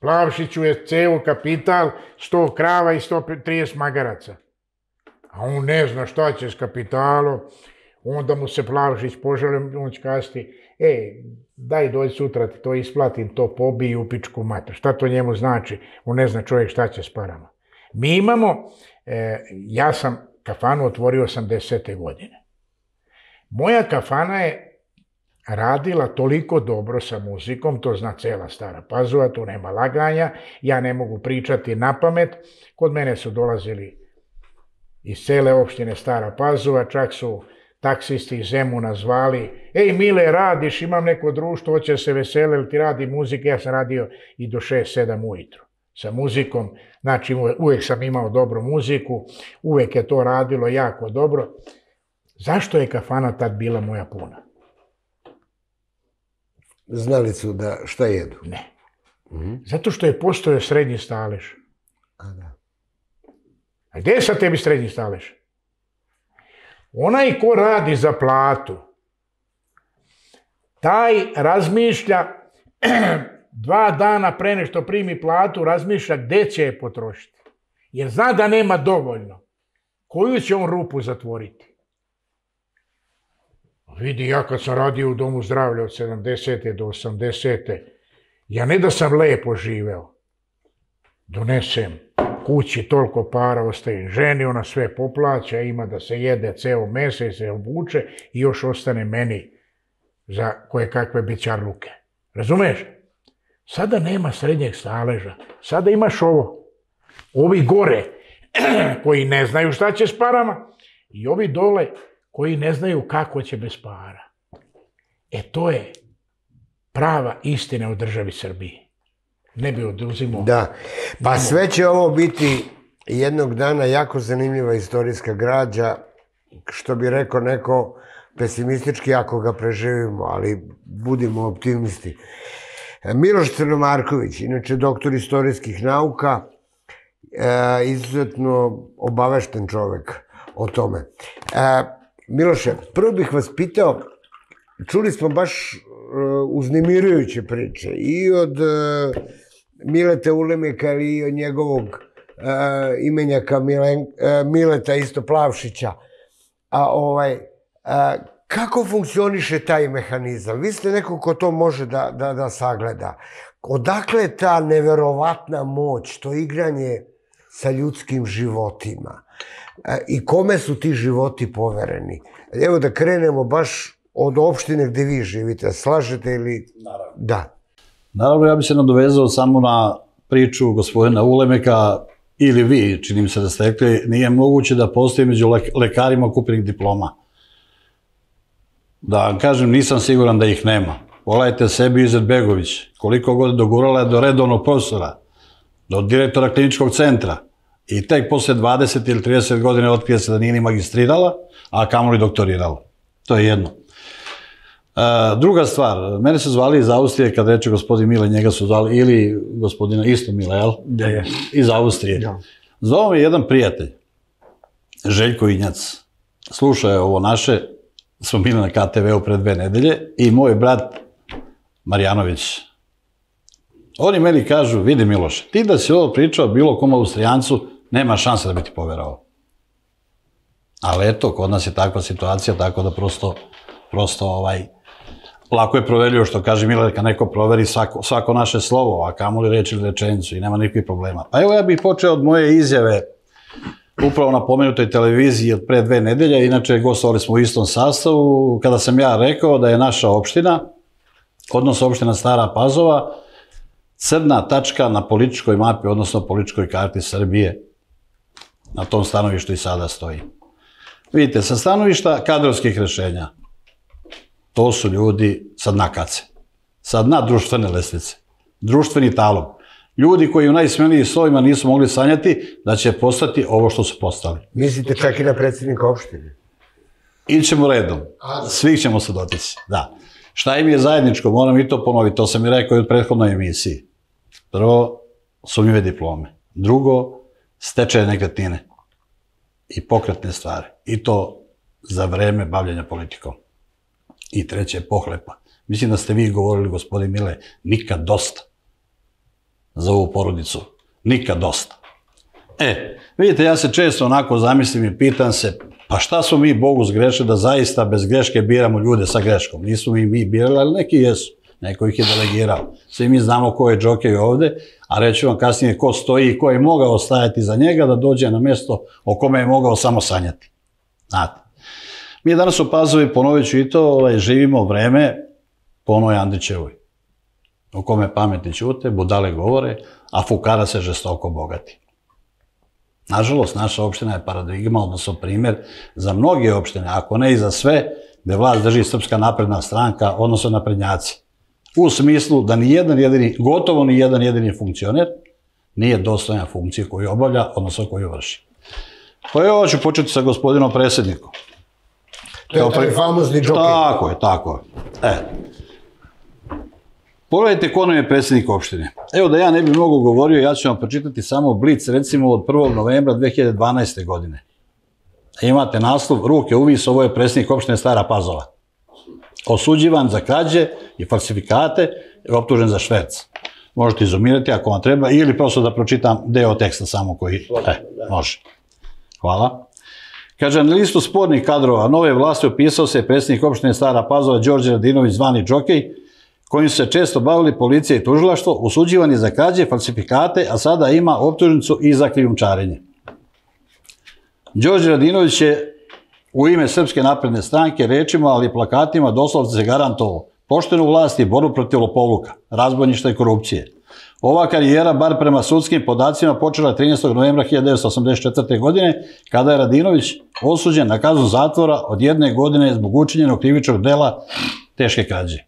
[SPEAKER 2] Plavšiću je ceo kapital, 100 krava i 130 magaraca. A on ne zna šta će s kapitalom. Onda mu se Plavšić požalio, on će kazati, daj dođi sutra ti to isplatim, to pobiji u pičku mater. Šta to njemu znači? On ne zna čovjek šta će s parama. Mi imamo, ja sam kafanu otvorio 80. godine. Moja kafana je radila toliko dobro sa muzikom, to zna cela Stara Pazova, tu nema laganja, ja ne mogu pričati na pamet. Kod mene su dolazili iz cele opštine Stara Pazova, čak su taksisti iz Zemuna zvali, ej Mile, radiš, imam neko društvo, hoće se vesele, ili ti radi muzika, ja sam radio i do 6-7 ujutru sa muzikom, znači uvijek sam imao dobru muziku, uvijek je to radilo jako dobro. Zašto je kafana tad bila moja puna?
[SPEAKER 1] Znali su da šta jedu?
[SPEAKER 2] Ne. Zato što je postojao srednji stalež. A gdje je sad tebi srednji stalež? Onaj ko radi za platu, taj razmišlja 2 dana pre nego primi platu, razmišlja gde će je potrošiti. Jer zna da nema dovoljno. Koju će on rupu zatvoriti? Vidi, ja kad sam radio u domu zdravlja od 70. do 80. ja ne da sam lepo živeo. Donesem kući toliko para, ostaje ženi, ona sve poplaća, ima da se jede ceo mesec, se obuče i još ostane meni za koje kakve bićarluke. Razumeš? Sada nema srednjeg staleža. Sada imaš ovo. Ovi gore koji ne znaju šta će s parama i ovi dole koji ne znaju kako će bez para. To je prava istina u državi Srbiji. Ne bi oduzimao.
[SPEAKER 1] Da, pa sve će ovo biti jednog dana jako zanimljiva istorijska građa, što bi rekao neko pesimistički ako ga preživimo, ali budimo optimisti. Miloš Crnomarković, inače doktor istorijskih nauka, izuzetno obavešten čovek o tome. Miloše, prvo bih vas pitao, čuli smo baš uznemirujuće priče i od Mileta Ulemeka i od njegovog imenjaka Mileta isto Plavšića. Kako funkcioniše taj mehanizam? Vi ste neko ko to može da sagleda. Odakle ta neverovatna moć, to igranje sa ljudskim životima? I kome su ti životi povereni? Evo da krenemo baš od opštine gde vi živite. Slažete ili...
[SPEAKER 4] Naravno.
[SPEAKER 1] Da.
[SPEAKER 4] Naravno, ja bih se nadovezao samo na priču gospodina Ulemeka, ili vi, čini mi se da ste rekli, nije moguće da postoji među lekarima kupljenih diploma. Da vam kažem, nisam siguran da ih nema. Pogledajte sebi Izetbegović, koliko god dogurala je do redovnog profesora, do direktora kliničkog centra i tek posle 20 ili 30 godine otkrije se da nije ni magistrirala, a kamoli doktorirala. To je jedno. Druga stvar, mene su zvali iz Austrije, kad reče gospodin Mile, njega su zvali, ili gospodina isto Mile, jel?
[SPEAKER 3] Da je.
[SPEAKER 4] Iz Austrije. Zvao me jedan prijatelj, Željko Injac. Slušao je ovo naše, smo bili na KTV-u pre 2 nedelje i moj brat Marjanović. Oni meni kažu, vidi Miloše, ti da si ovo pričao bilo kom Austrijancu, nema šanse da bi ti poverao. Ali eto, kod nas je takva situacija, tako da prosto lako je proverio, što kaže Mile, neka neko proveri svako naše slovo, a kamoli reč ili rečenicu i nema nikakvih problema. Pa evo ja bih počeo od moje izjave upravo na pomenutoj televiziji od pre 2 nedelje, inače gostovali smo u istom sastavu, kada sam ja rekao da je naša opština, odnosno opština Stara Pazova, crna tačka na političkoj mapi, odnosno političkoj karti Srbije. Na tom stanovištu i sada stoji. Vidite, sa stanovišta kadrovskih rešenja, to su ljudi sa dna kace, sa dna društvene lestvice, društveni talog. Ljudi koji u najsmelijim slovima nisu mogli sanjati da će postati ovo što su postali.
[SPEAKER 1] Mislite čak i na predsjednika opštine?
[SPEAKER 4] Ićemo redom. Svih ćemo se dotići. Da. Šta im je zajedničko? Moram i to ponoviti. To sam i rekao i u prethodnoj emisiji. Prvo, sumnjive diplome. Drugo, stečaje nekretnine i pokretne stvari. I to za vreme bavljenja politikom. I treće, pohlepa. Mislim da ste vi govorili, gospodin Mile, nikad dosta za ovu porodicu. Nikad dosta. Vidite, ja se često onako zamislim i pitam se, pa šta smo mi Bogu zgrešili da zaista bez greške biramo ljude sa greškom? Nismo mi birali, ali neki jesu. Neko ih je delegirao. Svi mi znamo ko je džokej ovde, a reću vam kasnije ko stoji i ko je mogao stajati za njega da dođe na mesto o kome je mogao samo sanjati. Znate. Mi danas u Pazovi, ponovit ću i to, živimo vreme po onoj Andrićevoj, u kome pametni ćute, budale govore, a fukara se žestoko bogati. Nažalost, naša opština je paradigma, odnosno primjer za mnoge opštine, ako ne i za sve, gde vlast drži Srpska napredna stranka, odnosno naprednjaci. U smislu da gotovo ni jedan jedini funkcioner nije dostojan funkcije koju obavlja, odnosno koju vrši. Pa evo ću početi sa gospodinom predsjednikom.
[SPEAKER 1] To je taj famozni džokej.
[SPEAKER 4] Tako je. Pogledajte ko nam je predsjednik opštine. Evo da ja ne bi mnogo govorio, ja ću vam pročitati samo blic, recimo od 1. novembra 2012. godine. Imate naslov ruke uvis, ovo je predsjednik opštine Stara Pazova. Osuđivan za krađe i falsifikate i optužen za šverc. Možete izumirati ako vam treba ili prosto da pročitam deo teksta samo koji... može. Hvala. Kaže, na listu spornih kadrova nove vlasti opisao se predsjednik opštine Stara Pazova Đorđe Radinović zvani Džokej, kojim su se često bavili policija i tužilaštvo, osuđivan je za krađe, falsifikate, a sada ima optužnicu i za krijumčarenje. Đorđe Radinović je u ime Srpske napredne stranke rečima, ali i plakatima doslovce se garantovao poštenu vlast i borbu protiv lopovluka, razbojništva i korupcije. Ova karijera, bar prema sudskim podacima, počela 13. novembra 1984. godine, kada je Radinović osuđen na kaznu zatvora od 1 godine zbog učinjenog krivičnog dela teške krađe.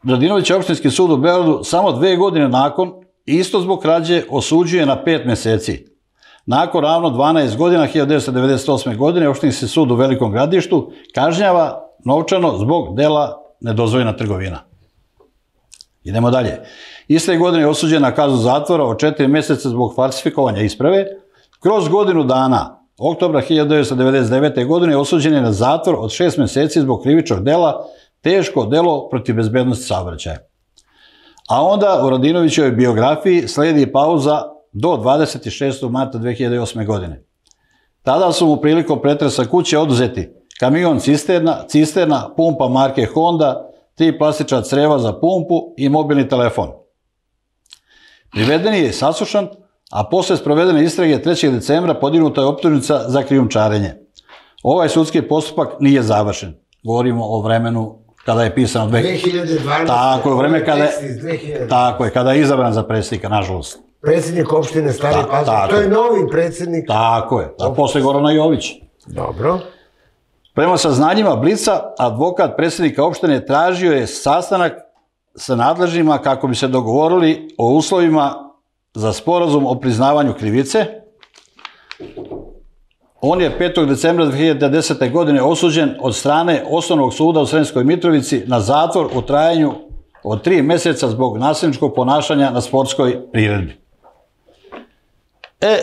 [SPEAKER 4] Radinović opštinski sud u Beogradu samo 2 godine nakon, isto zbog krađe, osuđuje na 5 meseci. Nakon ravno 12 godina, 1998. godine, opštinski sud u Velikom Gradištu kažnjava novčano zbog dela nedozvoljena trgovina. Idemo dalje. Iste godine je osuđen na kaznu zatvora od 4 meseca zbog falsifikovanja isprave. Kroz godinu dana, oktobra 1999. godine, osuđen je na zatvor od 6 meseci zbog krivičnog dela teško delo protiv bezbednosti saobraćaja. A onda u Radinovićevoj biografiji sledi pauza do 26. marta 2008. godine. Tada su mu prilikom pretresa kuće oduzeti kamion cisterna, pumpa marke Honda, 3 plastična creva za pumpu i mobilni telefon. Priveden je saslušan, a posle sprovedene istrage 3. decembra podignuta je optužnica za krijumčarenje. Ovaj sudski postupak nije završen. Govorimo o vremenu kada je pisano
[SPEAKER 1] 2012.
[SPEAKER 4] Tako je, vreme kada je izabran za predsjednika, nažalost.
[SPEAKER 1] Predsjednik opštine Stari Pazar, to je novi predsjednik.
[SPEAKER 4] Tako je, a posle Gorana Jović.
[SPEAKER 1] Dobro.
[SPEAKER 4] Prema saznanjima Blica, advokat predsjednika opštine tražio je sastanak sa nadležnjima kako bi se dogovorili o uslovima za sporazum o priznavanju krivice. On je 5. decembra 2010. godine osuđen od strane Osnovnog suda u Sremskoj Mitrovici na zatvor u trajanju od 3 meseca zbog nasilničkog ponašanja na sportskoj priredbi.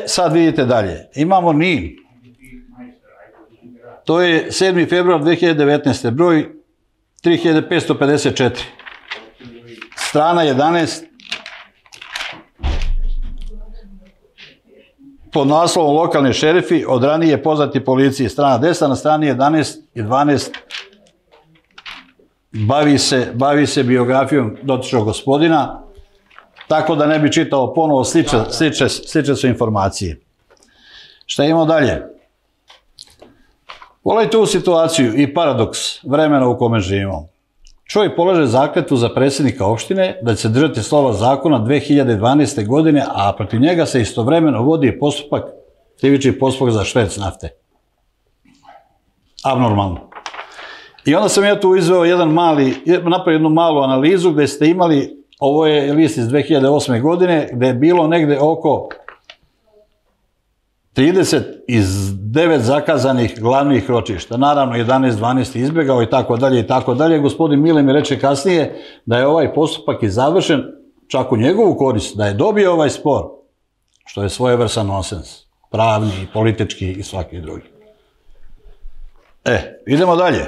[SPEAKER 4] Sad vidite dalje. Imamo Nin. To je 7. februar 2019. broj 3554. Strana 11. Pod naslovom lokalni šerifi od ranije poznati policiji. Strana 10, na strani 11 i 12 bavi se biografijom dotičnog gospodina, tako da ne bi čitao ponovo, slične su informacije. Šta imamo dalje? Pogledajte ovu situaciju i paradoks vremena u kome živimo. Čovjek polaže zakletvu za predsjednika opštine da će se držati slova zakona 2012. godine, a protiv njega se istovremeno vodi krivični postupak za šverc nafte. Abnormalno. I onda sam ja tu izveo napravio jednu malu analizu gde ste imali, ovo je list iz 2008. godine, gde je bilo negde oko 39 zakazanih glavnih ročišta. Naravno, 11-12 izbjegao i tako dalje i tako dalje. Gospodin Mile mi reče kasnije da je ovaj postupak i završen čak u njegovu korist, da je dobio ovaj spor, što je svojevrstan nonsens. Pravni, politički i svaki drugi. Idemo dalje.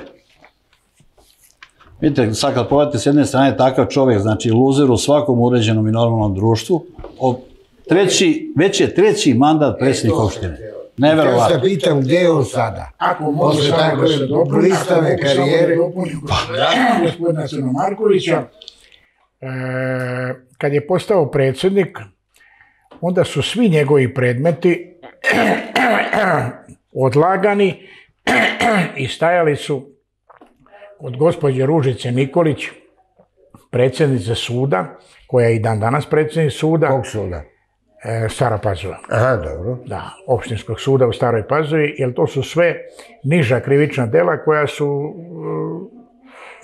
[SPEAKER 4] Vidite, sad kad pogledate s jedne strane takav čovjek, znači luzer u svakom uređenom i normalnom društvu, već je 3. mandat predsjednik opštine. Neverovatno.
[SPEAKER 1] Ja se pitam gdje je on sada?
[SPEAKER 2] Ako mogu samo da se dopunim, gospodina Crnomarkovića, kad je postao predsjednik, onda su svi njegovi predmeti odlagani i stajali su od gospođe Ružice Nikolić, predsjednice suda, koja je i dan danas predsjednik suda.
[SPEAKER 1] Kog suda?
[SPEAKER 2] Stara Pazova.
[SPEAKER 1] Aha, dobro.
[SPEAKER 2] Da, opštinskog suda u Staroj Pazovi, jer to su sve niža krivična dela koja su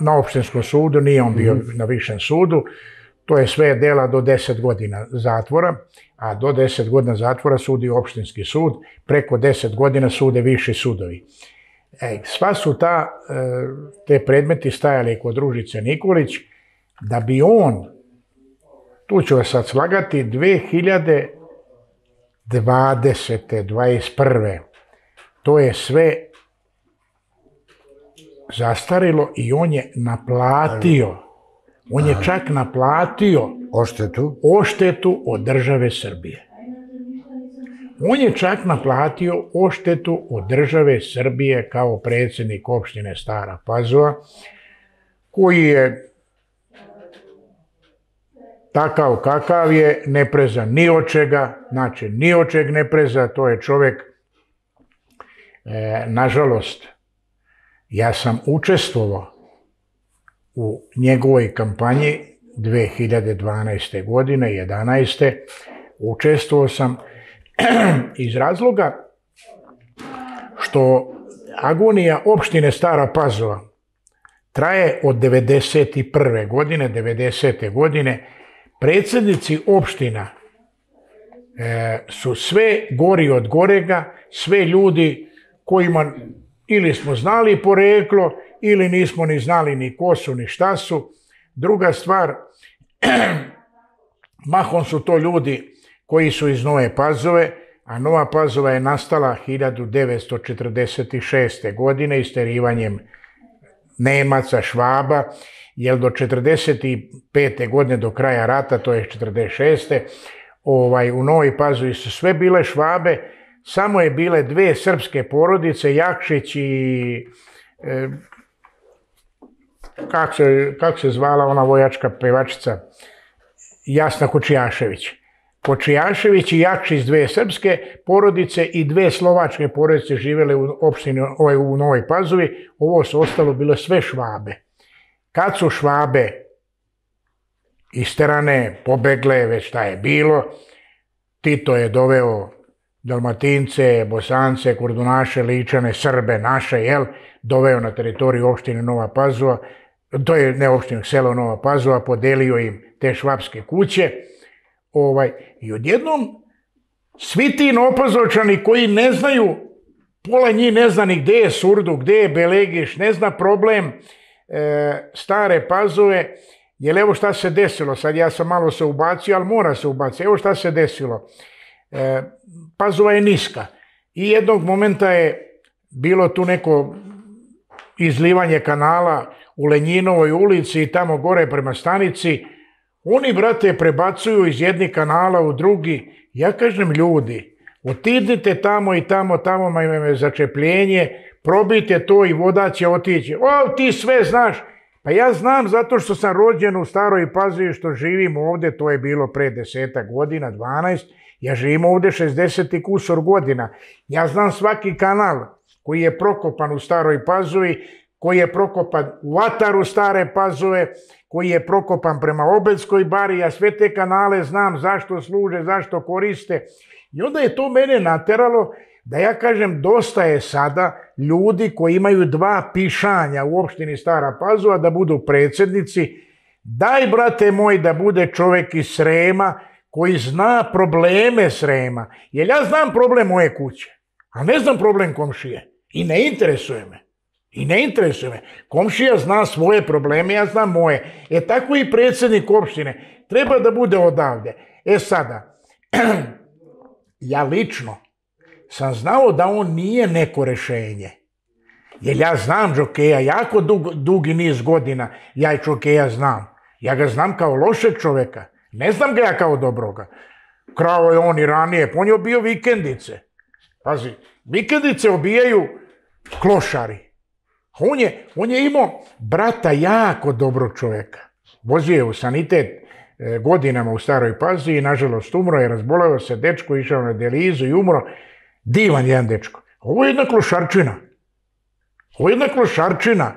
[SPEAKER 2] na opštinskom sudu, nije on bio na višem sudu, to je sve dela do 10 godina zatvora, a do 10 godina zatvora sudi opštinski sud, preko 10 godina sude viši sudovi. Sva su te predmeti stajali kod Ružice Nikolić, da bi on, tu ću vas sad slagati, 20. 21. To je sve zastarilo i on je naplatio. On je čak naplatio odštetu od države Srbije. On je čak naplatio odštetu od države Srbije kao predsjednik opštine Stara Pazova, koji je takav kakav je, ne preza ni od čega, znači ni od čeg ne preza, to je čovjek, nažalost, ja sam učestvovao u njegovoj kampanji 2012. godine, 11. Učestvovao sam iz razloga što agonija opštine Stara Pazova traje od 91. godine, 90. godine. Predsjednici opština su sve gori od gorega, sve ljudi kojima ili smo znali poreklo, ili nismo ni znali ni ko su, ni šta su. Druga stvar, mahom su to ljudi koji su iz Nove Pazove, a Nova Pazova je nastala 1946. godine isterivanjem Nemaca, Švaba, jer do 45. godine, do kraja rata, to je 46. U Novoj Pazovi su sve bile Švabe, samo je bile dve srpske porodice, Jakšić i kako se zvala ona vojačka pevačica, Jasna Kočijašević. Kočijašević i Jakšić, dve srpske porodice i dve slovačke porodice živjele u opštini u Novoj Pazovi, ovo su ostalo bilo sve Švabe. Kad su Švabe isterane, pobegle, već šta je bilo, Tito je doveo Dalmatince, Bosance, Kurdunaše, Ličane, Srbe, naše, doveo na teritoriju opštine Nova Pazova, to je ne opštine, selo Nova Pazova, podelio im te švapske kuće, i odjednom svi ti Novopazovčani koji ne znaju, pola njih ne zna ni gde je Surduk, gde je Belegiš, ne zna problem Stare Pazove, jer evo šta se desilo, sad ja sam malo se ubacio, ali mora se ubaciti, evo šta se desilo. Pazova je niska i jednog momenta je bilo tu neko izlivanje kanala u Lenjinovoj ulici i tamo gore prema stanici. Oni, brate, prebacuju iz jednih kanala u drugi. Ja kažem, ljudi, otidite tamo i tamo imamo začepljenje, probite to i voda će otići. O, ti sve znaš. Pa ja znam zato što sam rođen u Staroj Pazovi, što živim ovde, to je bilo pre 10 godina, 12. Ja živim ovde 60 i kusor godina. Ja znam svaki kanal koji je prokopan u Staroj Pazovi, koji je prokopan u ataru Stare Pazove, koji je prokopan prema Obedskoj bari, ja sve te kanale znam zašto služe, zašto koriste. I onda je to mene nateralo da ja kažem, dosta je sada ljudi koji imaju dva pišanja u opštini Stara Pazova da budu predsjednici. Daj, brate moj, da bude čovjek iz Srema koji zna probleme Srema. Jer ja znam problem moje kuće, a ne znam problem komšije. I ne interesuje me. Komšija zna svoje probleme, ja znam moje. Tako i predsjednik opštine treba da bude odavde. Sada, ja lično sam znao da on nije neko rešenje. Jer ja znam Đokeja, jako dugi niz godina ja i Đokeja znam. Ja ga znam kao lošeg čoveka. Ne znam ga ja kao dobroga. Krao je on i ranije, on je obio vikendice. Pazi, vikendice obijaju klošari. On je imao brata jako dobrog čoveka. Vozio je u sanitet godinama u Staroj Pazovi i nažalost umro je, razboleo se dečko, išao na dijalizu i umro. Divan jedan dečko. Ovo je jedna klošarčina.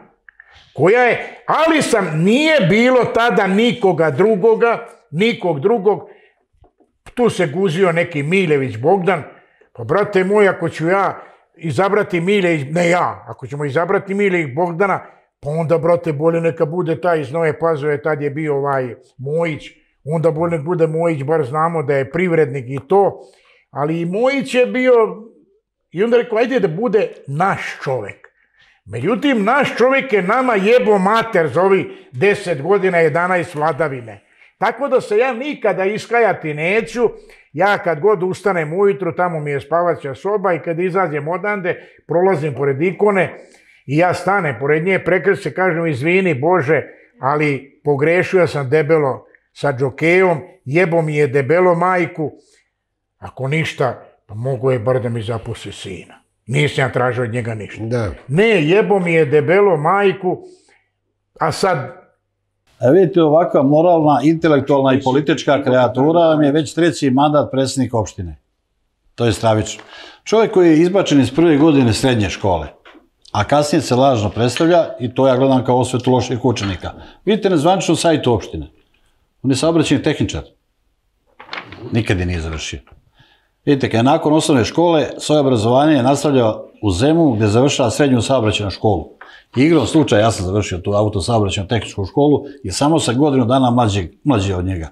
[SPEAKER 2] Koja je, ali nije bilo tada nikog drugog. Tu se guzio neki Miljević Bogdan. Pa brate moj, ako ću ja izabrati ako ćemo izabrati Miljević Bogdana, pa onda, brate, bolje neka bude taj iz Nove Pazove, tad je bio Mojić, onda bolje nek bude Mojić, bar znamo da je privrednik i to, ali i Mojić je bio, i onda rekao, ajde da bude naš čovek. Međutim, naš čovek je nama jebo mater za ovih 10 godina, 11 vladavine. Tako da se ja nikada iskajati neću, Ja kad god ustanem ujutru, tamo mi je spavaća soba i kad izađem odande, prolazim pored ikone i ja stanem pored nje, prekrećem se, kažem izvini Bože, ali pogrešio sam debelo sa džokejom, jebo mi je debelo majku, ako ništa, pa mogu je bar da mi zapusti sina. Nisam ja tražio od njega ništa.
[SPEAKER 1] Da.
[SPEAKER 2] Ne, jebo mi je debelo majku, a sad...
[SPEAKER 4] Vidite, ovakva moralna, intelektualna i politička kreatura vam je već 3. mandat predsjednika opštine. To je stravično. Čovjek koji je izbačen iz 1. godine srednje škole, a kasnije se lažno predstavlja, i to ja gledam kao osvetu loših učenika. Vidite na zvaničnom sajtu opštine. On je saobraćajni tehničar. Nikad je nije završio. Vidite, kad je nakon osnovne škole, svoje obrazovanje je nastavljao u Zemunu, gdje završava srednju saobraćajnu školu. Igrom slučaja, ja sam završio tu autosaobraćajnu tehničku školu i samo sa godinu dana mlađi od njega.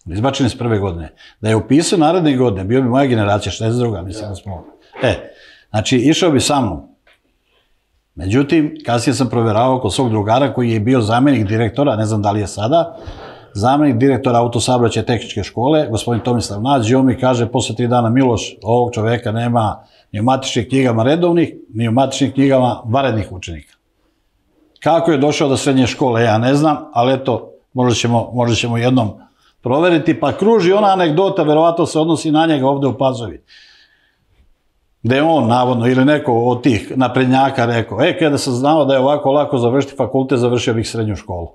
[SPEAKER 4] Izbačen iz 1. godine. Da je upisao naredne godine, bio bi moja generacija, 62. mislim da smo. Znači, išao bi sa mnom. Međutim, kasnije sam provjeravao kod svog drugara koji je bio zamjenik direktora, ne znam da li je sada, zamjenik direktora autosaobraćajne tehničke škole, gospodin Tomislav Nađ, i on mi kaže posle 3 dana, Miloš, ovog čoveka nema ni u matičnim knjigama redovnih, ni u matičnim knjigama vanrednih učenika. Kako je došao do srednje škole, ja ne znam, ali eto, možda ćemo jednom proveriti, pa kruži ona anegdota, verovatno se odnosi na njega ovde u Pazovi, gde je on, navodno, ili neko od tih naprednjaka rekao, kada sam znao da je ovako lako završiti fakultet, završio bih srednju školu.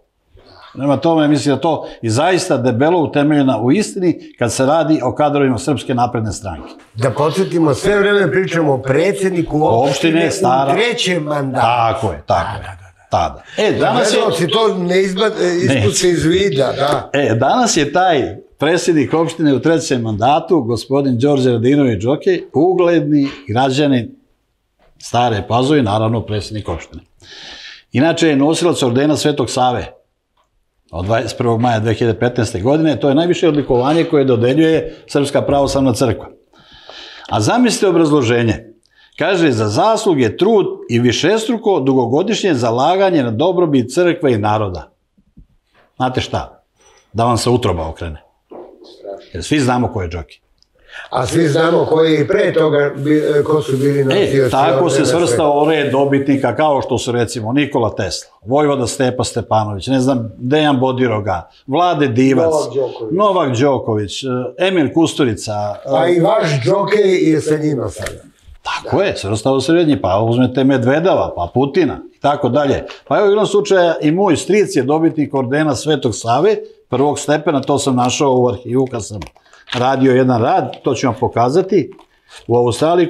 [SPEAKER 4] Nema tome, mislim da to i zaista debelo utemeljena u istini kad se radi o kadrovima Srpske napredne stranke.
[SPEAKER 1] Da podsjetimo, sve vreme pričamo o predsjedniku opštine u 3. mandatu.
[SPEAKER 4] Tako je. Tada.
[SPEAKER 1] Danas je... to ne ispusti iz vida, da.
[SPEAKER 4] Danas je taj predsjednik opštine u 3. mandatu, gospodin Đorđe Radinović Džokej, ugledni građanin Stare Pazove, naravno predsjednik opštine. Inače je nosilac ordena Svetog Save od 21. maja 2015. godine. To je najviše odlikovanje koje dodeljuje Srpska pravoslavna crkva. A zamislite obrazloženje. Kaže, za zasluge, trud i višestruko dugogodišnje zalaganje na dobrobit crkve i naroda. Znate šta? Da vam se utroba okrene. Jer svi znamo ko je Džokej.
[SPEAKER 1] A svi znamo koji i pre toga, ko su bili nosioci.
[SPEAKER 4] Tako se svrstao red dobitnika, kao što su recimo Nikola Tesla, Vojvoda Stepa Stepanović, ne znam, Dejan Bodiroga, Vlade Divac, Novak Đoković, Emil Kusturica.
[SPEAKER 1] A i vaš Džokej je sa njima sada.
[SPEAKER 4] Tako je, svrstao srednji, pa uzmete Medvedava, pa Putina i tako dalje. Pa evo, u jednom slučaju i moj stric je dobitnik ordena Svetog Save, 1. stepena, to sam našao u arhivu kad sam radio jedan rad, to ću vam pokazati. U Australiji,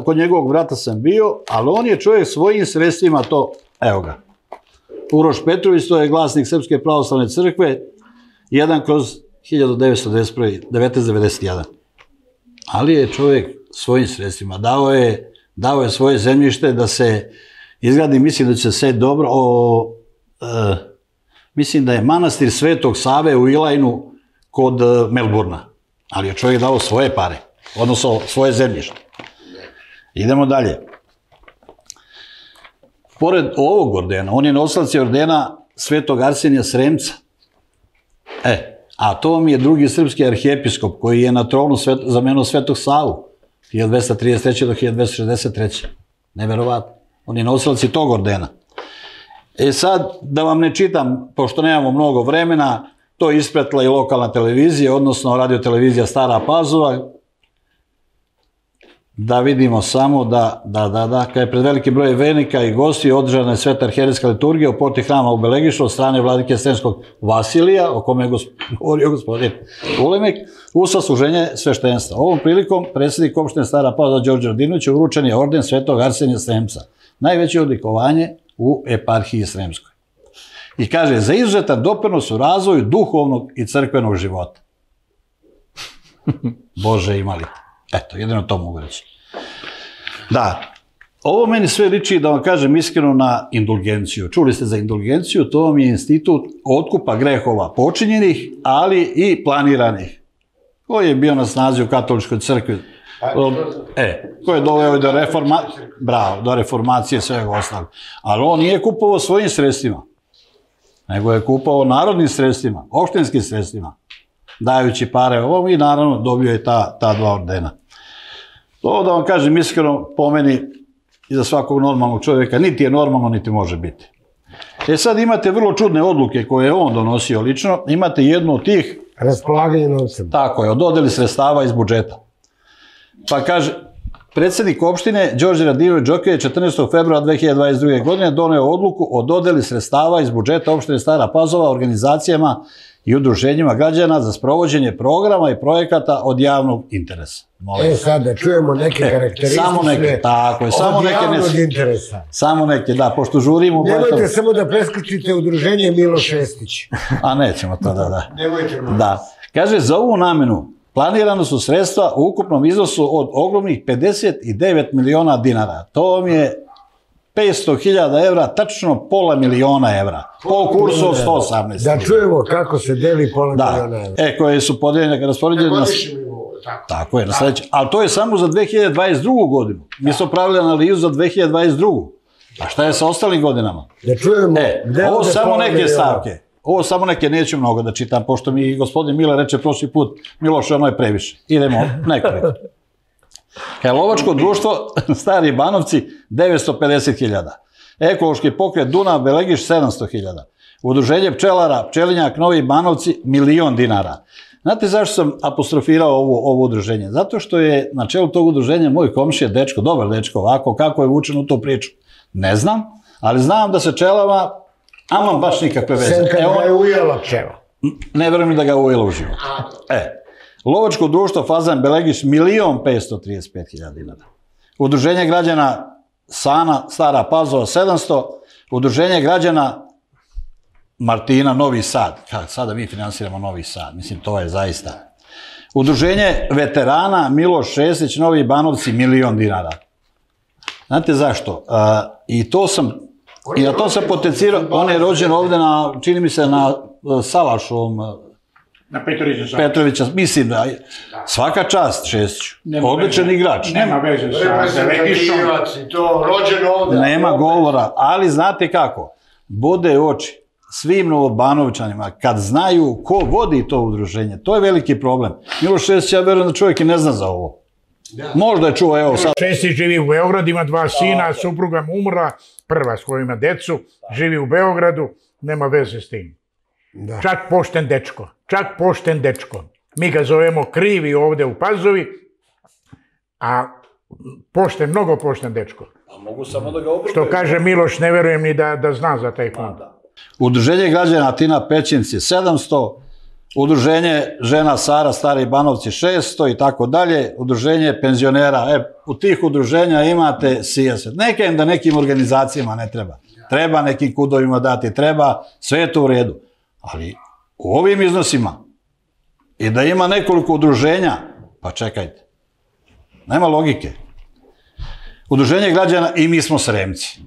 [SPEAKER 4] kod njegovog brata sam bio, ali on je čovjek svojim sredstvima to, evo ga. Uroš Petrović, to je glasnik Srpske pravoslavne crkve, 1/1991. Ali je čovjek svojim sredstvima dao je svoje zemljište da se izgradi, mislim da će se sve dobro, mislim da je manastir Svetog Save u Ilajnu kod Melburna. Ali je čovjek dao svoje pare, odnosno svoje zemljište. Idemo dalje. Pored ovog ordena, on je nosilac ordena Svetog Arsenija Sremca. A to vam je drugi srpski arhijepiskop koji je na tronu zamenio Svetog Savu, 1233. do 1263. Neverovatno. On je nosilac i tog ordena. Sad, da vam ne čitam, pošto nemamo mnogo vremena, to je ispratila i lokalna televizija, odnosno radiotelevizija Stara Pazova. Da vidimo samo da kada je pred veliki broj vernika i gosti održana je sveta arhijerejska liturgija u porti hrama u Belegišu od strane vladike Sremskog Vasilija, o kome je govorio gospodin Ulemek, u sasluženje sveštenstva. Ovom prilikom predsjednik opštine Stara Pazova Đorđe Radinović uručen je orden Svetog Arsenija Sremca, najveće odlikovanje u eparhiji Sremskoj. I kaže, za izuzetan doprinos u razvoju duhovnog i crkvenog života. Bože, imali. Eto, jedino to mogu reći. Da, ovo meni sve liči, da vam kažem iskreno, na indulgenciju. Čuli ste za indulgenciju, to vam je institut otkupa grehova počinjenih, ali i planiranih, koji je bio na snazi u katoličkoj crkvi. Koji je doveo do reformacije i svega ostalog. Ali on nije kupovao svojim sredstvima, nego je kupovao narodnim sredstvima, opštinskim sredstvima. dajući pare ovom i naravno dobio je ta 2 ordena. To da vam kažem iskreno, po meni i za svakog normalnog čovjeka, niti je normalno, niti može biti. Sad imate vrlo čudne odluke koje je on donosio lično, imate jednu od tih...
[SPEAKER 1] Raspolaganje novcem.
[SPEAKER 4] Tako je, o dodeli sredstava iz budžeta. Pa kaže, predsjednik opštine Đorđe Radinović Džokija 14. februara 2022. godine doneo odluku o dodeli sredstava iz budžeta opštine Stara Pazova organizacijama i udruženjima građana za sprovođenje programa i projekata od javnog interesa.
[SPEAKER 1] Sad da čujemo neke karakteristične
[SPEAKER 4] samo neke, tako je, samo
[SPEAKER 1] od
[SPEAKER 4] neke
[SPEAKER 1] javnog interesa.
[SPEAKER 4] Samo neke, da, pošto žurimo...
[SPEAKER 1] Nemojte samo da preskočite udruženje Miloš Šestić.
[SPEAKER 4] A nećemo to, da.
[SPEAKER 1] Nemojte.
[SPEAKER 4] Da. Kaže, za ovu namenu planirano su sredstva u ukupnom iznosu od ogromnih 59 miliona dinara. To vam je 500.000 evra, tačno pola miliona evra. Po kursu od 118.
[SPEAKER 1] Da čujemo kako se deli pola miliona evra.
[SPEAKER 4] Koje su podeljene, raspoređene na... Tako je, na sledeće. Ali to je samo za 2022. godinu. Mi smo pravili analizu za 2022. A šta je sa ostalim godinama?
[SPEAKER 1] Da čujemo...
[SPEAKER 4] Ovo samo neke stavke. Ovo samo neke, neću mnogo da čitam, pošto mi gospodin Mile reče prošli put, Miloš, ono je previše. Idemo nekoliko. Lovačko društvo Stari Banovci 950.000. Ekološki pokret Dunav Belegiš 700.000. Udruženje pčelara Pčelinjak Novi Banovci 1.000.000 dinara. Znate zašto sam apostrofirao ovo udruženje? Zato što je na čelu tog udruženja moj komšija dečko, dobar dečko, ovako kako je vučen u tu priču. Ne znam, ali znam da se pčelama amam baš nikakve veze.
[SPEAKER 1] Sem kad ga je ujela pčela.
[SPEAKER 4] Ne verujem da ga je ujela u život. Lovačko društvo Fazan Belegiš 1.535.000 dinara. Udruženje građana Sana Stara Pazova 700. Udruženje građana Martina Novi Sad. Sada mi finansiramo Novi Sad. Mislim, to je zaista. Udruženje veterana Miloš Šestić Novi Banovci 1.000.000 dinara. Znate zašto? I na to sam potencirao. On je rođen ovde na, čini mi se, na Salašovom,
[SPEAKER 2] na
[SPEAKER 4] Petrovića, mislim da svaka čast Šestiću, odličan igrač.
[SPEAKER 2] Nema veze sa Belegišom.
[SPEAKER 1] Rođen ovde.
[SPEAKER 4] Nema govora, ali znate kako, bode oči svim Novobanovičanima kad znaju ko vodi to udruženje. To je veliki problem. Miloš Šestić, ja verujem da čovjek i ne zna za ovo. Možda je čuo, evo sad.
[SPEAKER 2] Šestić živi u Beogradu, ima 2 sina, supruga mu umrla, prva s kojima decu, živi u Beogradu, nema veze s tim. Čak pošten dečko. Mi ga zovemo krivi ovde u Pazovi, a mnogo pošten dečko.
[SPEAKER 4] Mogu samo da ga obrukaju.
[SPEAKER 2] Što kaže Miloš, ne verujem ni da zna za taj fond.
[SPEAKER 4] Udruženje građana Tina Pećinci 700, udruženje žena Sara Stari Banovci 600 i tako dalje, udruženje penzionera, u tih udruženja imate sijaset. Neka im da nekim organizacijama ne treba. Treba nekim kudovima dati, treba, sve je to u redu. Ali u ovim iznosima i da ima nekoliko udruženja, pa čekajte, nema logike. Udruženje građana i mi smo Sremci.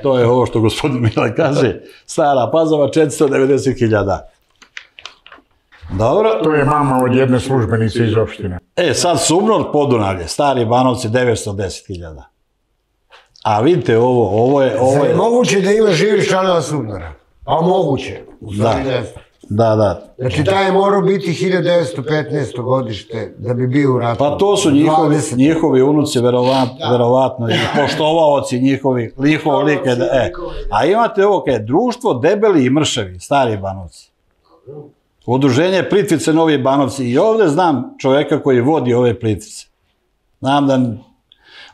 [SPEAKER 4] To je ovo što gospodin Mile kaže, Stara Pazova 490.000. Dobro.
[SPEAKER 2] To je mama od jedne službenice iz opštine.
[SPEAKER 4] Sad Sumnor Podunavlje, Stari Banovci 910.000. A vidite ovo je...
[SPEAKER 1] Zar je moguće da ima živih članova Sumnora? Pa moguće.
[SPEAKER 4] Da.
[SPEAKER 1] Znači, taj je morao biti 1915. godište da bi bio u ratu.
[SPEAKER 4] Pa to su njihovi unuci, verovatno, i poštovaoci njihov lik. A imate ovo kaj je društvo Debeli i Mrševi, Stari Banovci. Udruženje Plitvice Novi Banovci. I ovde znam čoveka koji vodi ove Plitvice. Znam da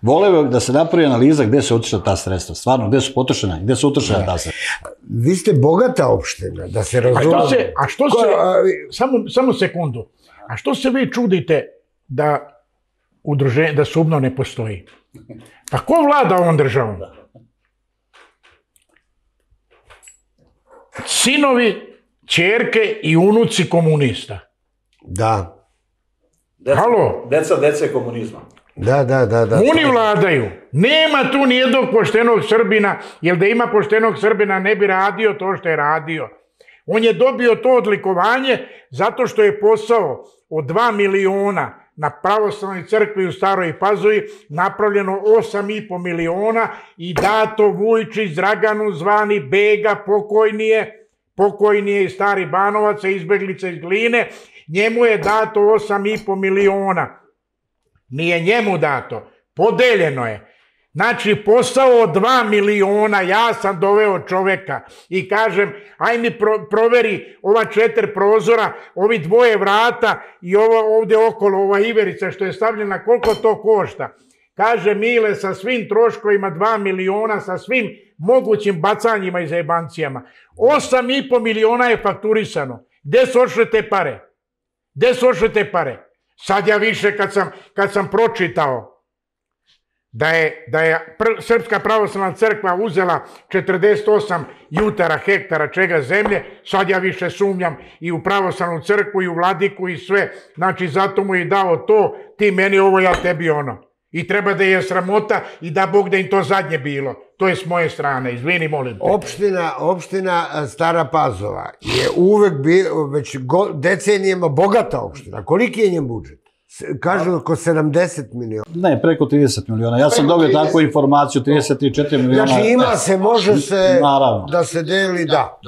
[SPEAKER 4] voleo da se napravi analiza gde se otišla ta sredstva. Stvarno, gde su potrošena, gde su utrošena ta sredstva.
[SPEAKER 1] Vi ste bogata opština, da se razumemo.
[SPEAKER 2] A što se, samo sekundu, a što se vi čudite da Sumno ne postoji? Pa ko vlada ovom državom? Sinovi, ćerke i unuci komunista.
[SPEAKER 1] Da.
[SPEAKER 2] Halo?
[SPEAKER 4] Dece komunizma.
[SPEAKER 1] Da.
[SPEAKER 2] Oni vladaju. Nema tu nijednog poštenog Srbina, jer da ima poštenog Srbina ne bi radio to što je radio. On je dobio to odlikovanje zato što je posao od 2 miliona na pravoslavnoj crkvi u Staroj Pazovi napravljeno 8,5 miliona i dato Vujčić Draganu zvani Bega pokojnije iz Stari Banovaca, izbeglica iz Gline, njemu je dato 8,5 miliona. Nije njemu dato, podeljeno je. Znači, posao od 2 miliona, ja sam doveo čoveka i kažem, aj mi proveri ova 4 prozora, ovi 2 vrata i ovo ovde okolo, ova iverica što je stavljena, koliko to košta? Kaže Mile, sa svim troškovima 2 miliona, sa svim mogućim bacanjima i zajebancijama. 8,5 miliona je fakturisano. Gde su ošle te pare? Gde su ošle te pare? Sad ja više kad sam pročitao da je Srpska pravoslavna crkva uzela 48 jutara, hektara čega zemlje, sad ja više sumnjam i u pravoslavnu crkvu i u vladiku i sve. Znači, zato mu je dao to, ti meni ovo, ja tebi ono. I treba da je sramota i da Bog da im to zadnje bilo. To je s moje strane, izvini, molim te.
[SPEAKER 1] Opština Stara Pazova je uvek već decenijama bogata opština. Koliki je njen budžet? Kažu oko 70 miliona.
[SPEAKER 4] Ne, preko 30 miliona. Ja sam dobio takvu informaciju, 34 miliona.
[SPEAKER 1] Znači ima se, može se da se deli, da.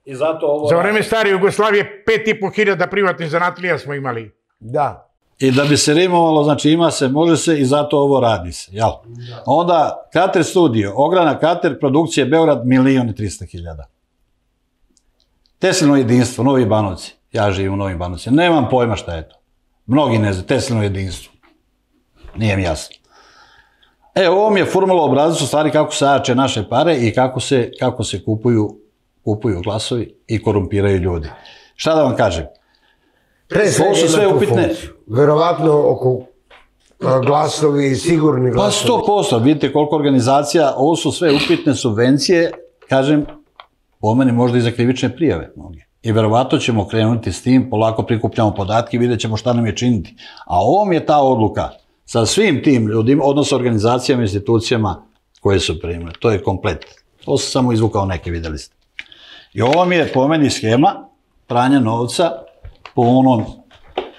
[SPEAKER 4] I zato ovo...
[SPEAKER 2] Za vreme stare Jugoslavije 5.500 privatnih zanatlija smo imali.
[SPEAKER 1] Da.
[SPEAKER 4] I da bi se rimovalo, znači ima se, može se i zato ovo radi se, jel? Onda Kater studio, Ograna Kater, produkcije Beograd, 1.300.000. Teslino jedinstvo, Novi Banovci. Ja živim u Novim Banovcima. Nemam pojma šta je to. Mnogi ne znaju, Teslino jedinstvo. Nije mi jasno. Ovo mi je formula obrazac u stvari kako se jače naše pare i kako se kupuju glasovi i korumpiraju ljudi. Šta da vam kažem?
[SPEAKER 1] Ovo su sve upitne. Verovatno oko glasovi i sigurni glasovi.
[SPEAKER 4] Pa 100%, vidite koliko organizacija, ovo su sve upitne subvencije, kažem, po meni možda i za krivične prijave mnoge. I verovatno ćemo krenuti s tim, polako prikupljamo podatke i vidjet ćemo šta nam je činiti. A ovo mi je ta odluka sa svim tim ljudima, odnosno organizacijama, institucijama koje su primile. To je komplet. To sam samo izvukao neke, videli ste. I ovo mi je po meni schema pranja novca po onom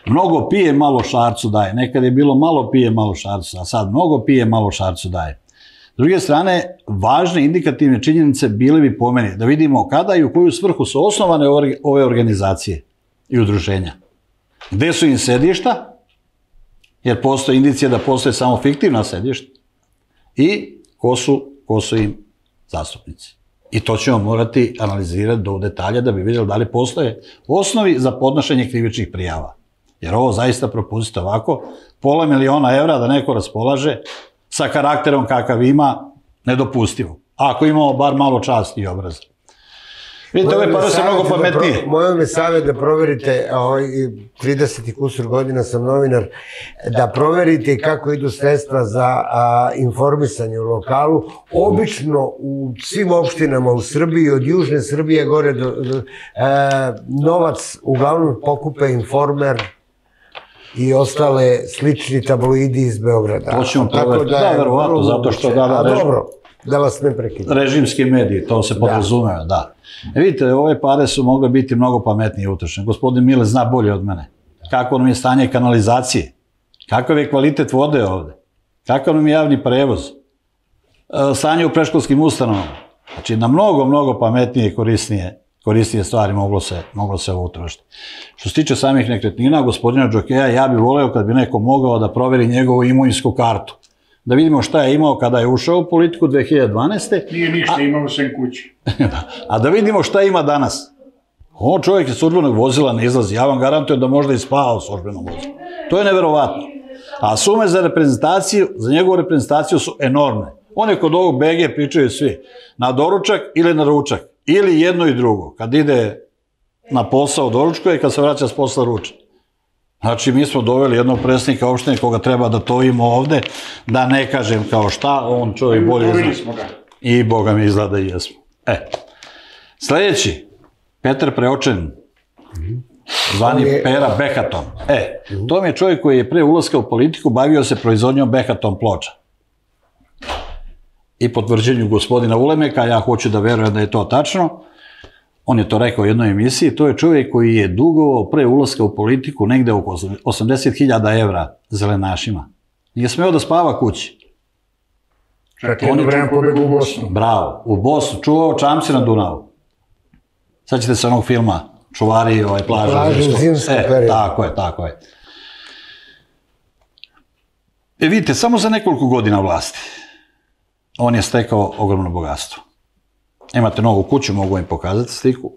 [SPEAKER 4] mnogo pije, malo šarcu daje. Nekad je bilo malo pije, malo šarcu, a sad mnogo pije, malo šarcu daje. S druge strane, važne indikativne činjenice bile bi po meni da vidimo kada i u koju svrhu su osnovane ove organizacije i udruženja. Gde su im sedišta, jer postoje indicije da postoje samo fiktivna sedišta, i ko su im zastupnici. I to ćemo morati analizirati do detalja da bi vidjeli da li postoje osnovi za podnošenje krivičnih prijava. Jer ovo zaista propustite ovako, $500.000 da neko raspolaže sa karakterom kakav ima, nedopustivo. Ako imamo bar malo časti i obraza. Vidite, ove pare su mnogo pametnije.
[SPEAKER 1] Moj me savjet da proverite, 30 i kusur godina sam novinar, da proverite kako idu sredstva za informisanje u lokalu. Obično u svim opštinama u Srbiji, od južne Srbije gore, novac uglavnom pokupe Informer i ostale slični tabloidi iz Beograda.
[SPEAKER 4] To ćemo proveriti, da, verovatno, zato što
[SPEAKER 1] dobro, da vas ne prekidam.
[SPEAKER 4] Režimski mediji, to se podrazumeva, da. Vidite, ove pare su mogle biti mnogo pametnije utrošene. Gospodin Mile zna bolje od mene. Kako nam je stanje kanalizacije? Kakav je kvalitet vode ovde? Kakav nam je javni prevoz? Stanje u predškolskim ustanovama? Znači, na mnogo pametnije i korisnije stvari moglo se ovo utrošiti. Što se tiče samih nekretnina, gospodina Džokeja, ja bih voleo kad bi neko mogao da proveri njegovu imovinsku kartu. Da vidimo šta je imao kada je ušao u politiku 2012.
[SPEAKER 2] Nije ništa imao sem kući.
[SPEAKER 4] A da vidimo šta ima danas. On čovjek iz službenog vozila ne izlazi. Ja vam garantujem da možda i spava u službenom vozilu. To je neverovatno. A sume za njegovu reprezentaciju su enormne. One kod ovog BG pričaju svi. Na doručak ili na ručak. Ili jedno i drugo. Kad ide na posao doručkuje i kad se vraća s posla ruča. Znači, mi smo doveli jednog predsjednika opštine koga treba da tojimo ovde, da ne kažem kao šta, on čovjek bolje zna. I Boga mi izgleda i jesmo. Sljedeći, Petar Preočen, zvani Pera Behaton. To mi je čovjek koji je pre ulaska u politiku bavio se proizvodnjom Behaton ploča. I potvrđenju gospodina Ulemeka, ja hoću da verujem da je to tačno. On je to rekao u jednoj emisiji, to je čovjek koji je dugovao pre ulaska u politiku negde oko 80.000 evra zelenašima. Nije smeo da spava kući.
[SPEAKER 2] Čak jedno vreme pobegu u Bosnu.
[SPEAKER 4] Bravo, u Bosnu, čuvao čamci na Dunavu. Sad ćete se onog filma čuvari plaža.
[SPEAKER 1] Plaža u zimskom periodu.
[SPEAKER 4] Tako je. Vidite, samo za nekoliko godina vlasti on je stekao ogromno bogatstvo. Imate novu kuću, mogu im pokazati sliku.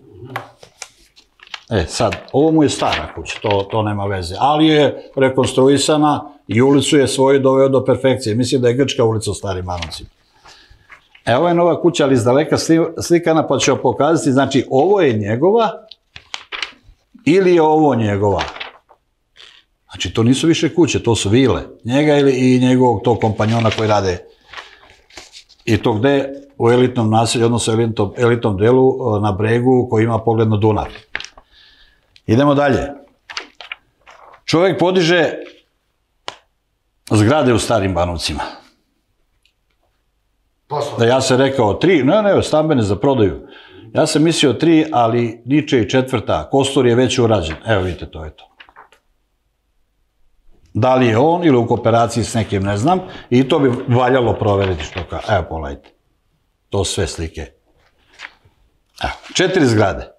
[SPEAKER 4] Sad, ovo mu je stara kuća, to nema veze, ali je rekonstruisana i ulicu je svoju doveo do perfekcije. Mislim da je Grčka ulica u Starim Banovcima. Ovo je nova kuća, ali iz daleka slikana, pa ću vam pokazati, znači, ovo je njegova ili je ovo njegova. Znači, to nisu više kuće, to su vile. Njega i njegovog tog kompanjona koji rade. I to gde? U elitnom naselju, odnosno elitnom delu na bregu koji ima pogled na Dunav. Idemo dalje. Čovjek podiže zgrade u Starim Banovcima. Ja sam rekao 3, ne, stambene za prodaju. Ja sam mislio 3, ali Niče i 4. Kostur je već urađen. Evo vidite, to je to. Da li je on ili u kooperaciji s nekim, ne znam. I to bi valjalo proveriti što kao. Evo, pogledajte. To sve slike. Evo, 4 zgrade.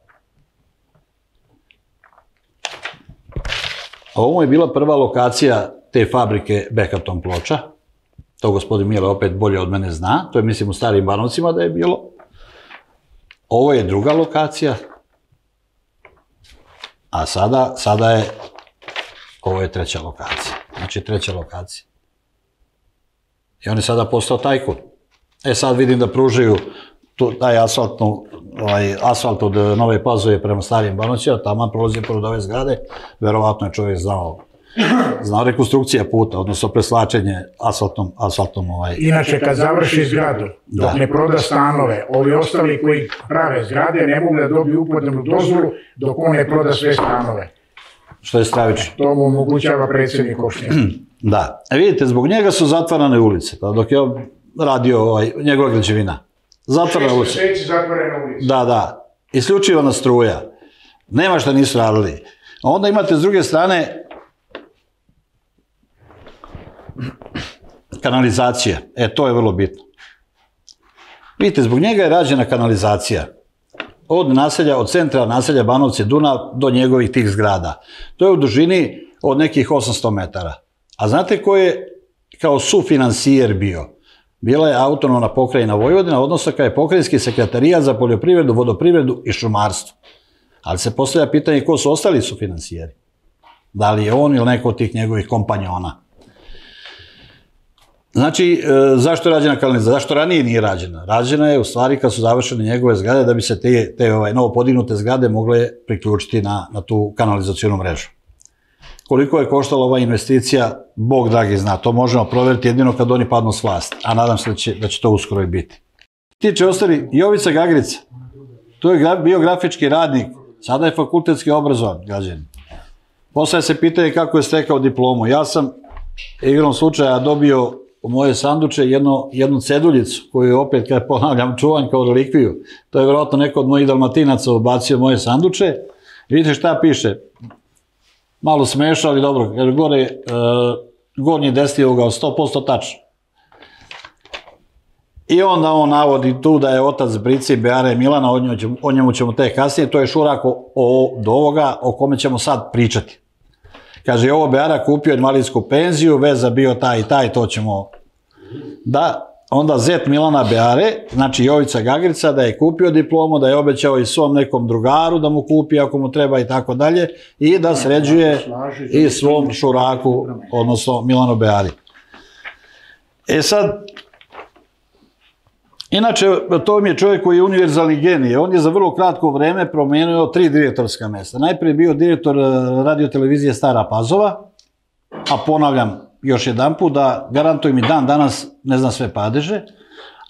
[SPEAKER 4] Ovo je bila prva lokacija te fabrike Bekaton ploča. To gospodin Mile opet bolje od mene zna. To je, mislim, u Starim Banovcima da je bilo. Ovo je druga lokacija. A sada je, ovo je 3. lokacija. Znači 3. lokacija. I on je sada postao tajkun. Sad vidim da pružaju taj asfalt od Nove Pazove prema Starim Banovcima, tamo prolazi pored ove zgrade, verovatno je čovjek znao rekonstrukcija puta, odnosno preslačenje asfaltom.
[SPEAKER 2] Inače, kad završi zgradu, dok ne proda stanove, ovi ostali koji prave zgrade ne mogu da dobiju upotrebnu dozvolu dok on ne proda sve stanove.
[SPEAKER 4] Što je stravično.
[SPEAKER 2] To mu omogućava predsjednik opštine.
[SPEAKER 4] Da. Vidite, zbog njega su zatvarane ulice, dok je radio njegova građevina. Zatvorena ulica.
[SPEAKER 2] 6 meseci zatvorena ulica.
[SPEAKER 4] Da. Isključivana struja. Nema šta nisu radili. Onda imate s druge strane kanalizacija. To je vrlo bitno. Vidite, zbog njega je rađena kanalizacija. Od centra naselja Banovci Dunav do njegovih tih zgrada. To je u dužini od nekih 800 metara. A znate ko je kao sufinansijer bio? Bila je autonomna pokrajina Vojvodina, odnosno kao je pokrajinski sekretarijat za poljoprivredu, vodoprivredu i šumarstvo. Ali se postavlja pitanje ko su ostali sufinansijeri. Da li je on ili neko od tih njegovih kompanjona. Znači, zašto je rađena kanalizacija? Zašto ranije nije rađena? Rađena je u stvari kad su završene njegove zgrade da bi se te novo podignute zgrade mogle priključiti na tu kanalizacijonu mrežu. Koliko je koštala ova investicija, Bog dragi zna, to možemo provjeriti jedino kad oni padnu s vlasti, a nadam se da će to uskoro i biti. Tiče ostali, Jovica Gagrica, to je bio grafički radnik, sada je fakultetski obrazovan građanin. Poslije se pitanje kako je stekao diplomu. Ja sam igrom slučaja dobio u moje sanduče jednu ceduljicu, koju opet, kad ponavljam, čuvam kao relikviju. To je vjerojatno neko od mojih Dalmatinaca ubacio moje sanduče. Vidite šta piše. Malo smešno, ali dobro, jer gore gornji desni ugao 100% tačno. I onda on navodi tu da je otac Brice i Beare Milana, o njemu ćemo tek kasnije, to je šurak do ovoga o kome ćemo sad pričati. Kaže, ovo Beara kupio invalidsku penziju, veza bio taj i taj, to ćemo... Da, onda zet Milana Beare, znači Jovica Gagrica, da je kupio diplomu, da je obećao i svom nekom drugaru da mu kupi ako mu treba i tako dalje, i da sređuje i svom šuraku, odnosno Milanu Beari. Sad, inače, to mi je čovjek koji je univerzalni genij. On je za vrlo kratko vreme promenio 3 direktorska mesta. Najprije je bio direktor radiotelevizije Stara Pazova, a ponavljam još jedan put da garantujem i dan danas ne znam sve padeže,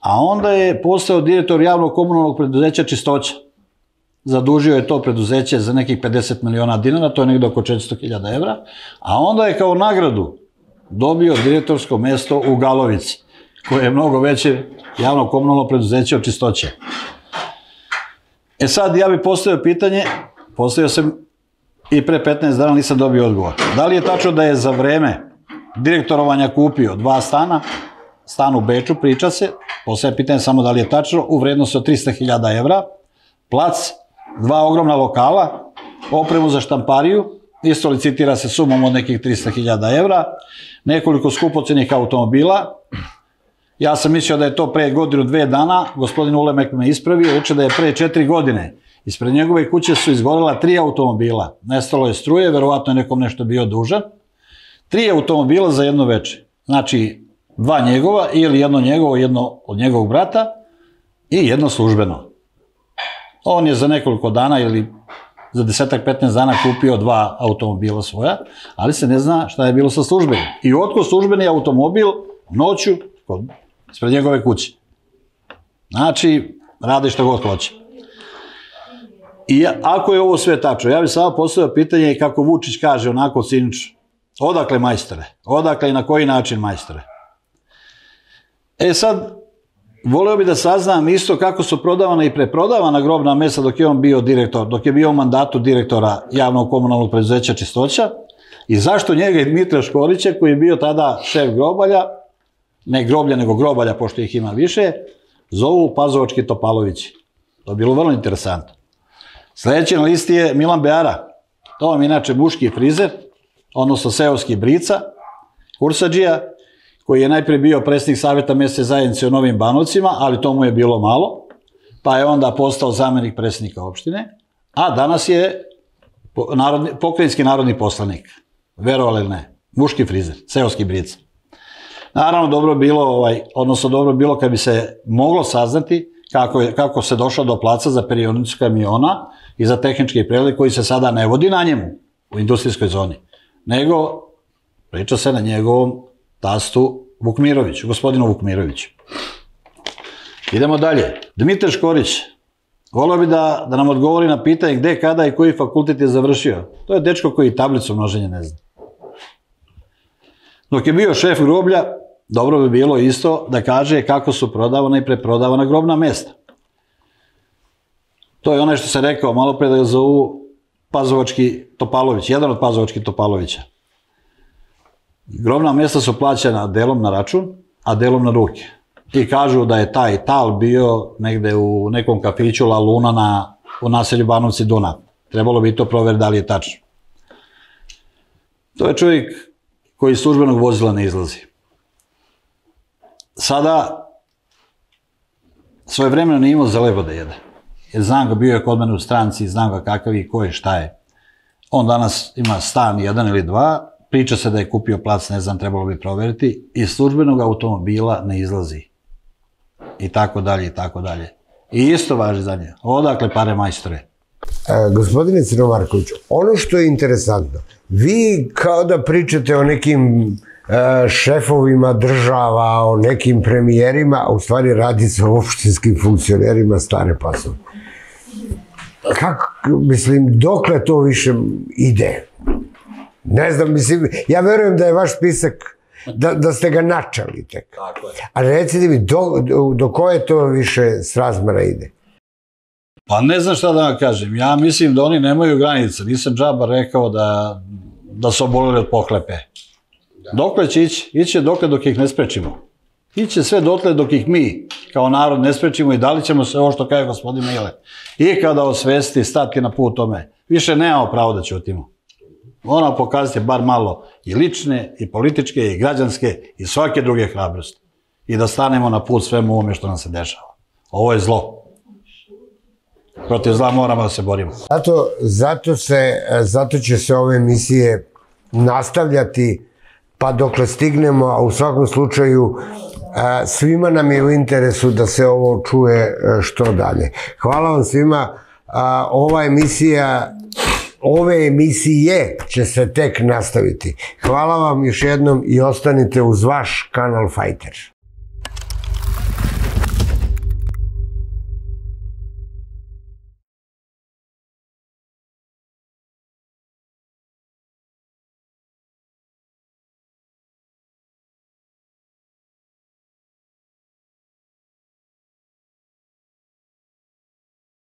[SPEAKER 4] a onda je postao direktor javnog komunalnog preduzeća Čistoća. Zadužio je to preduzeće za nekih 50 miliona dinara, to je negdje oko 400.000 evra, a onda je kao nagradu dobio direktorsko mesto u Galovici, koje je mnogo veće javno komunalno preduzeće od Čistoće. Sad ja bih postavio pitanje, postavio sam i pre 15 dana, nisam dobio odgovor. Da li je tačno da je za vreme direktorovanja kupio 2 stana, stan u Beču, priča se, postavio pitanje samo da li je tačno, u vrednosti od 300.000 evra, plac, 2 ogromna lokala opremu za štampariju, isto licitira se sumom od nekih 300.000 evra, nekoliko skupocenih automobila. Ja sam mislio da je to pre godinu, 2 dana, gospodin Ulemek me ispravio, reče da je pre 4 godine. Ispred njegove kuće su izgorela 3 automobila, nestalo je struje, verovatno je nekom nešto bio dužan. 3 automobila za jedno veče, znači 2 njegova ili jedno njegovo, jedno od njegovog brata i jedno službeno. On je za nekoliko dana ili za 10-15 dana kupio 2 automobila svoja, ali se ne zna šta je bilo sa službenim. I otkud službeni automobil noću ispred njegove kuće. Znači, radi što god hoće. I ako je ovo sve tačno, ja bih samo postavio pitanje kako Vučić kaže onako cinično, odakle majstore? Odakle i na koji način majstore? E sad, voleo bih da saznam isto kako su prodavana i preprodavana grobna mesta dok je on bio direktor, dok je bio u mandatu direktora javnog komunalnog preduzeća Čistoća i zašto njega i Dmitra Škorića, koji je bio tada šef grobalja, ne groblja nego grobalja, pošto ih ima više, zovu Pazovački Topalovići. To je bilo vrlo interesantno. Sljedeći na listi je Milan Beara. To vam je inače muški frizer, odnosno seoski brica, kursadžija, koji je najprije bio predsjednik savjeta mesne zajednice u Novim Banovcima, ali to mu je bilo malo, pa je onda postao zamjenik predsjednika opštine, a danas je pokrajinski narodni poslanik. Verovali ili ne? Muški frizer, seoski brica. Naravno, dobro bilo kad bi se moglo saznati kako se došlo do placa za perionicu kamiona i za tehnički pregled koji se sada ne vodi na njemu u industrijskoj zoni, nego priča se na njegovom tastu Vukmiroviću, gospodinu Vukmiroviću. Idemo dalje. Dmitar Škorić. Volio bi da nam odgovori na pitanje gde, kada i koji fakultet je završio. To je dečko koji tablicu množenja ne zna. Dok je bio šef groblja, dobro bi bilo isto da kaže kako su prodavana i preprodavana grobna mesta. To je onaj što se rekao malo pre da ga zovu Pazovački Topalović, jedan od Pazovačkih Topalovića. Grobna mesta su plaćena delom na račun, a delom na ruke. I kažu da je taj tal bio negde u nekom kafiću La Luna u naselju Banovci Dunav. Trebalo bi to proveriti da li je tačno. To je čovjek koji iz službenog vozila ne izlazi. Sada svoje vremena nije imao za lebo da jede. Jer znam ga, bio je kod mene u stranci, znam ga kakav i ko je, šta je. On danas ima stan 1 ili 2, priča se da je kupio plac, ne znam, trebalo bi proveriti, iz službenog automobila ne izlazi. I tako dalje, i tako dalje. I isto važi za nje. Odakle pare majstore?
[SPEAKER 1] Gospodine Crnomarkoviću, ono što je interesantno, vi kao da pričate o nekim šefovima država, o nekim premijerima, a u stvari radi se o opštinskim funkcionerima Stare Pasove. Kako, mislim, dokle to više ide? Ne znam, mislim, ja verujem da je vaš spisak, da ste ga načali tek.
[SPEAKER 4] Tako je.
[SPEAKER 1] Ali recite mi, do koje to više srazmera ide?
[SPEAKER 4] Pa ne znam šta da vam kažem. Ja mislim da oni nemaju granice. Nisam džaba rekao da su oboleli od pohlepe. Dokle će ići? Iće dokle dok ih ne sprečimo. Iće sve dotle dok ih mi kao narod ne sprečimo i da li ćemo se ovo što kaže gospodin Mile i kada osvesti stati na put tome. Više nemamo pravo da ćutimo. Moramo pokazati bar malo i lične, i političke, i građanske, i svake druge hrabrosti. I da stanemo na put svemu ovome što nam se dešava. Ovo je zlo. Protiv zla moramo da se borimo.
[SPEAKER 1] Zato će se ove emisije nastavljati pa dokle stignemo, a u svakom slučaju svima nam je u interesu da se ovo čuje što dalje. Hvala vam svima. Ove emisije će se tek nastaviti. Hvala vam još jednom i ostanite uz vaš kanal Fajter.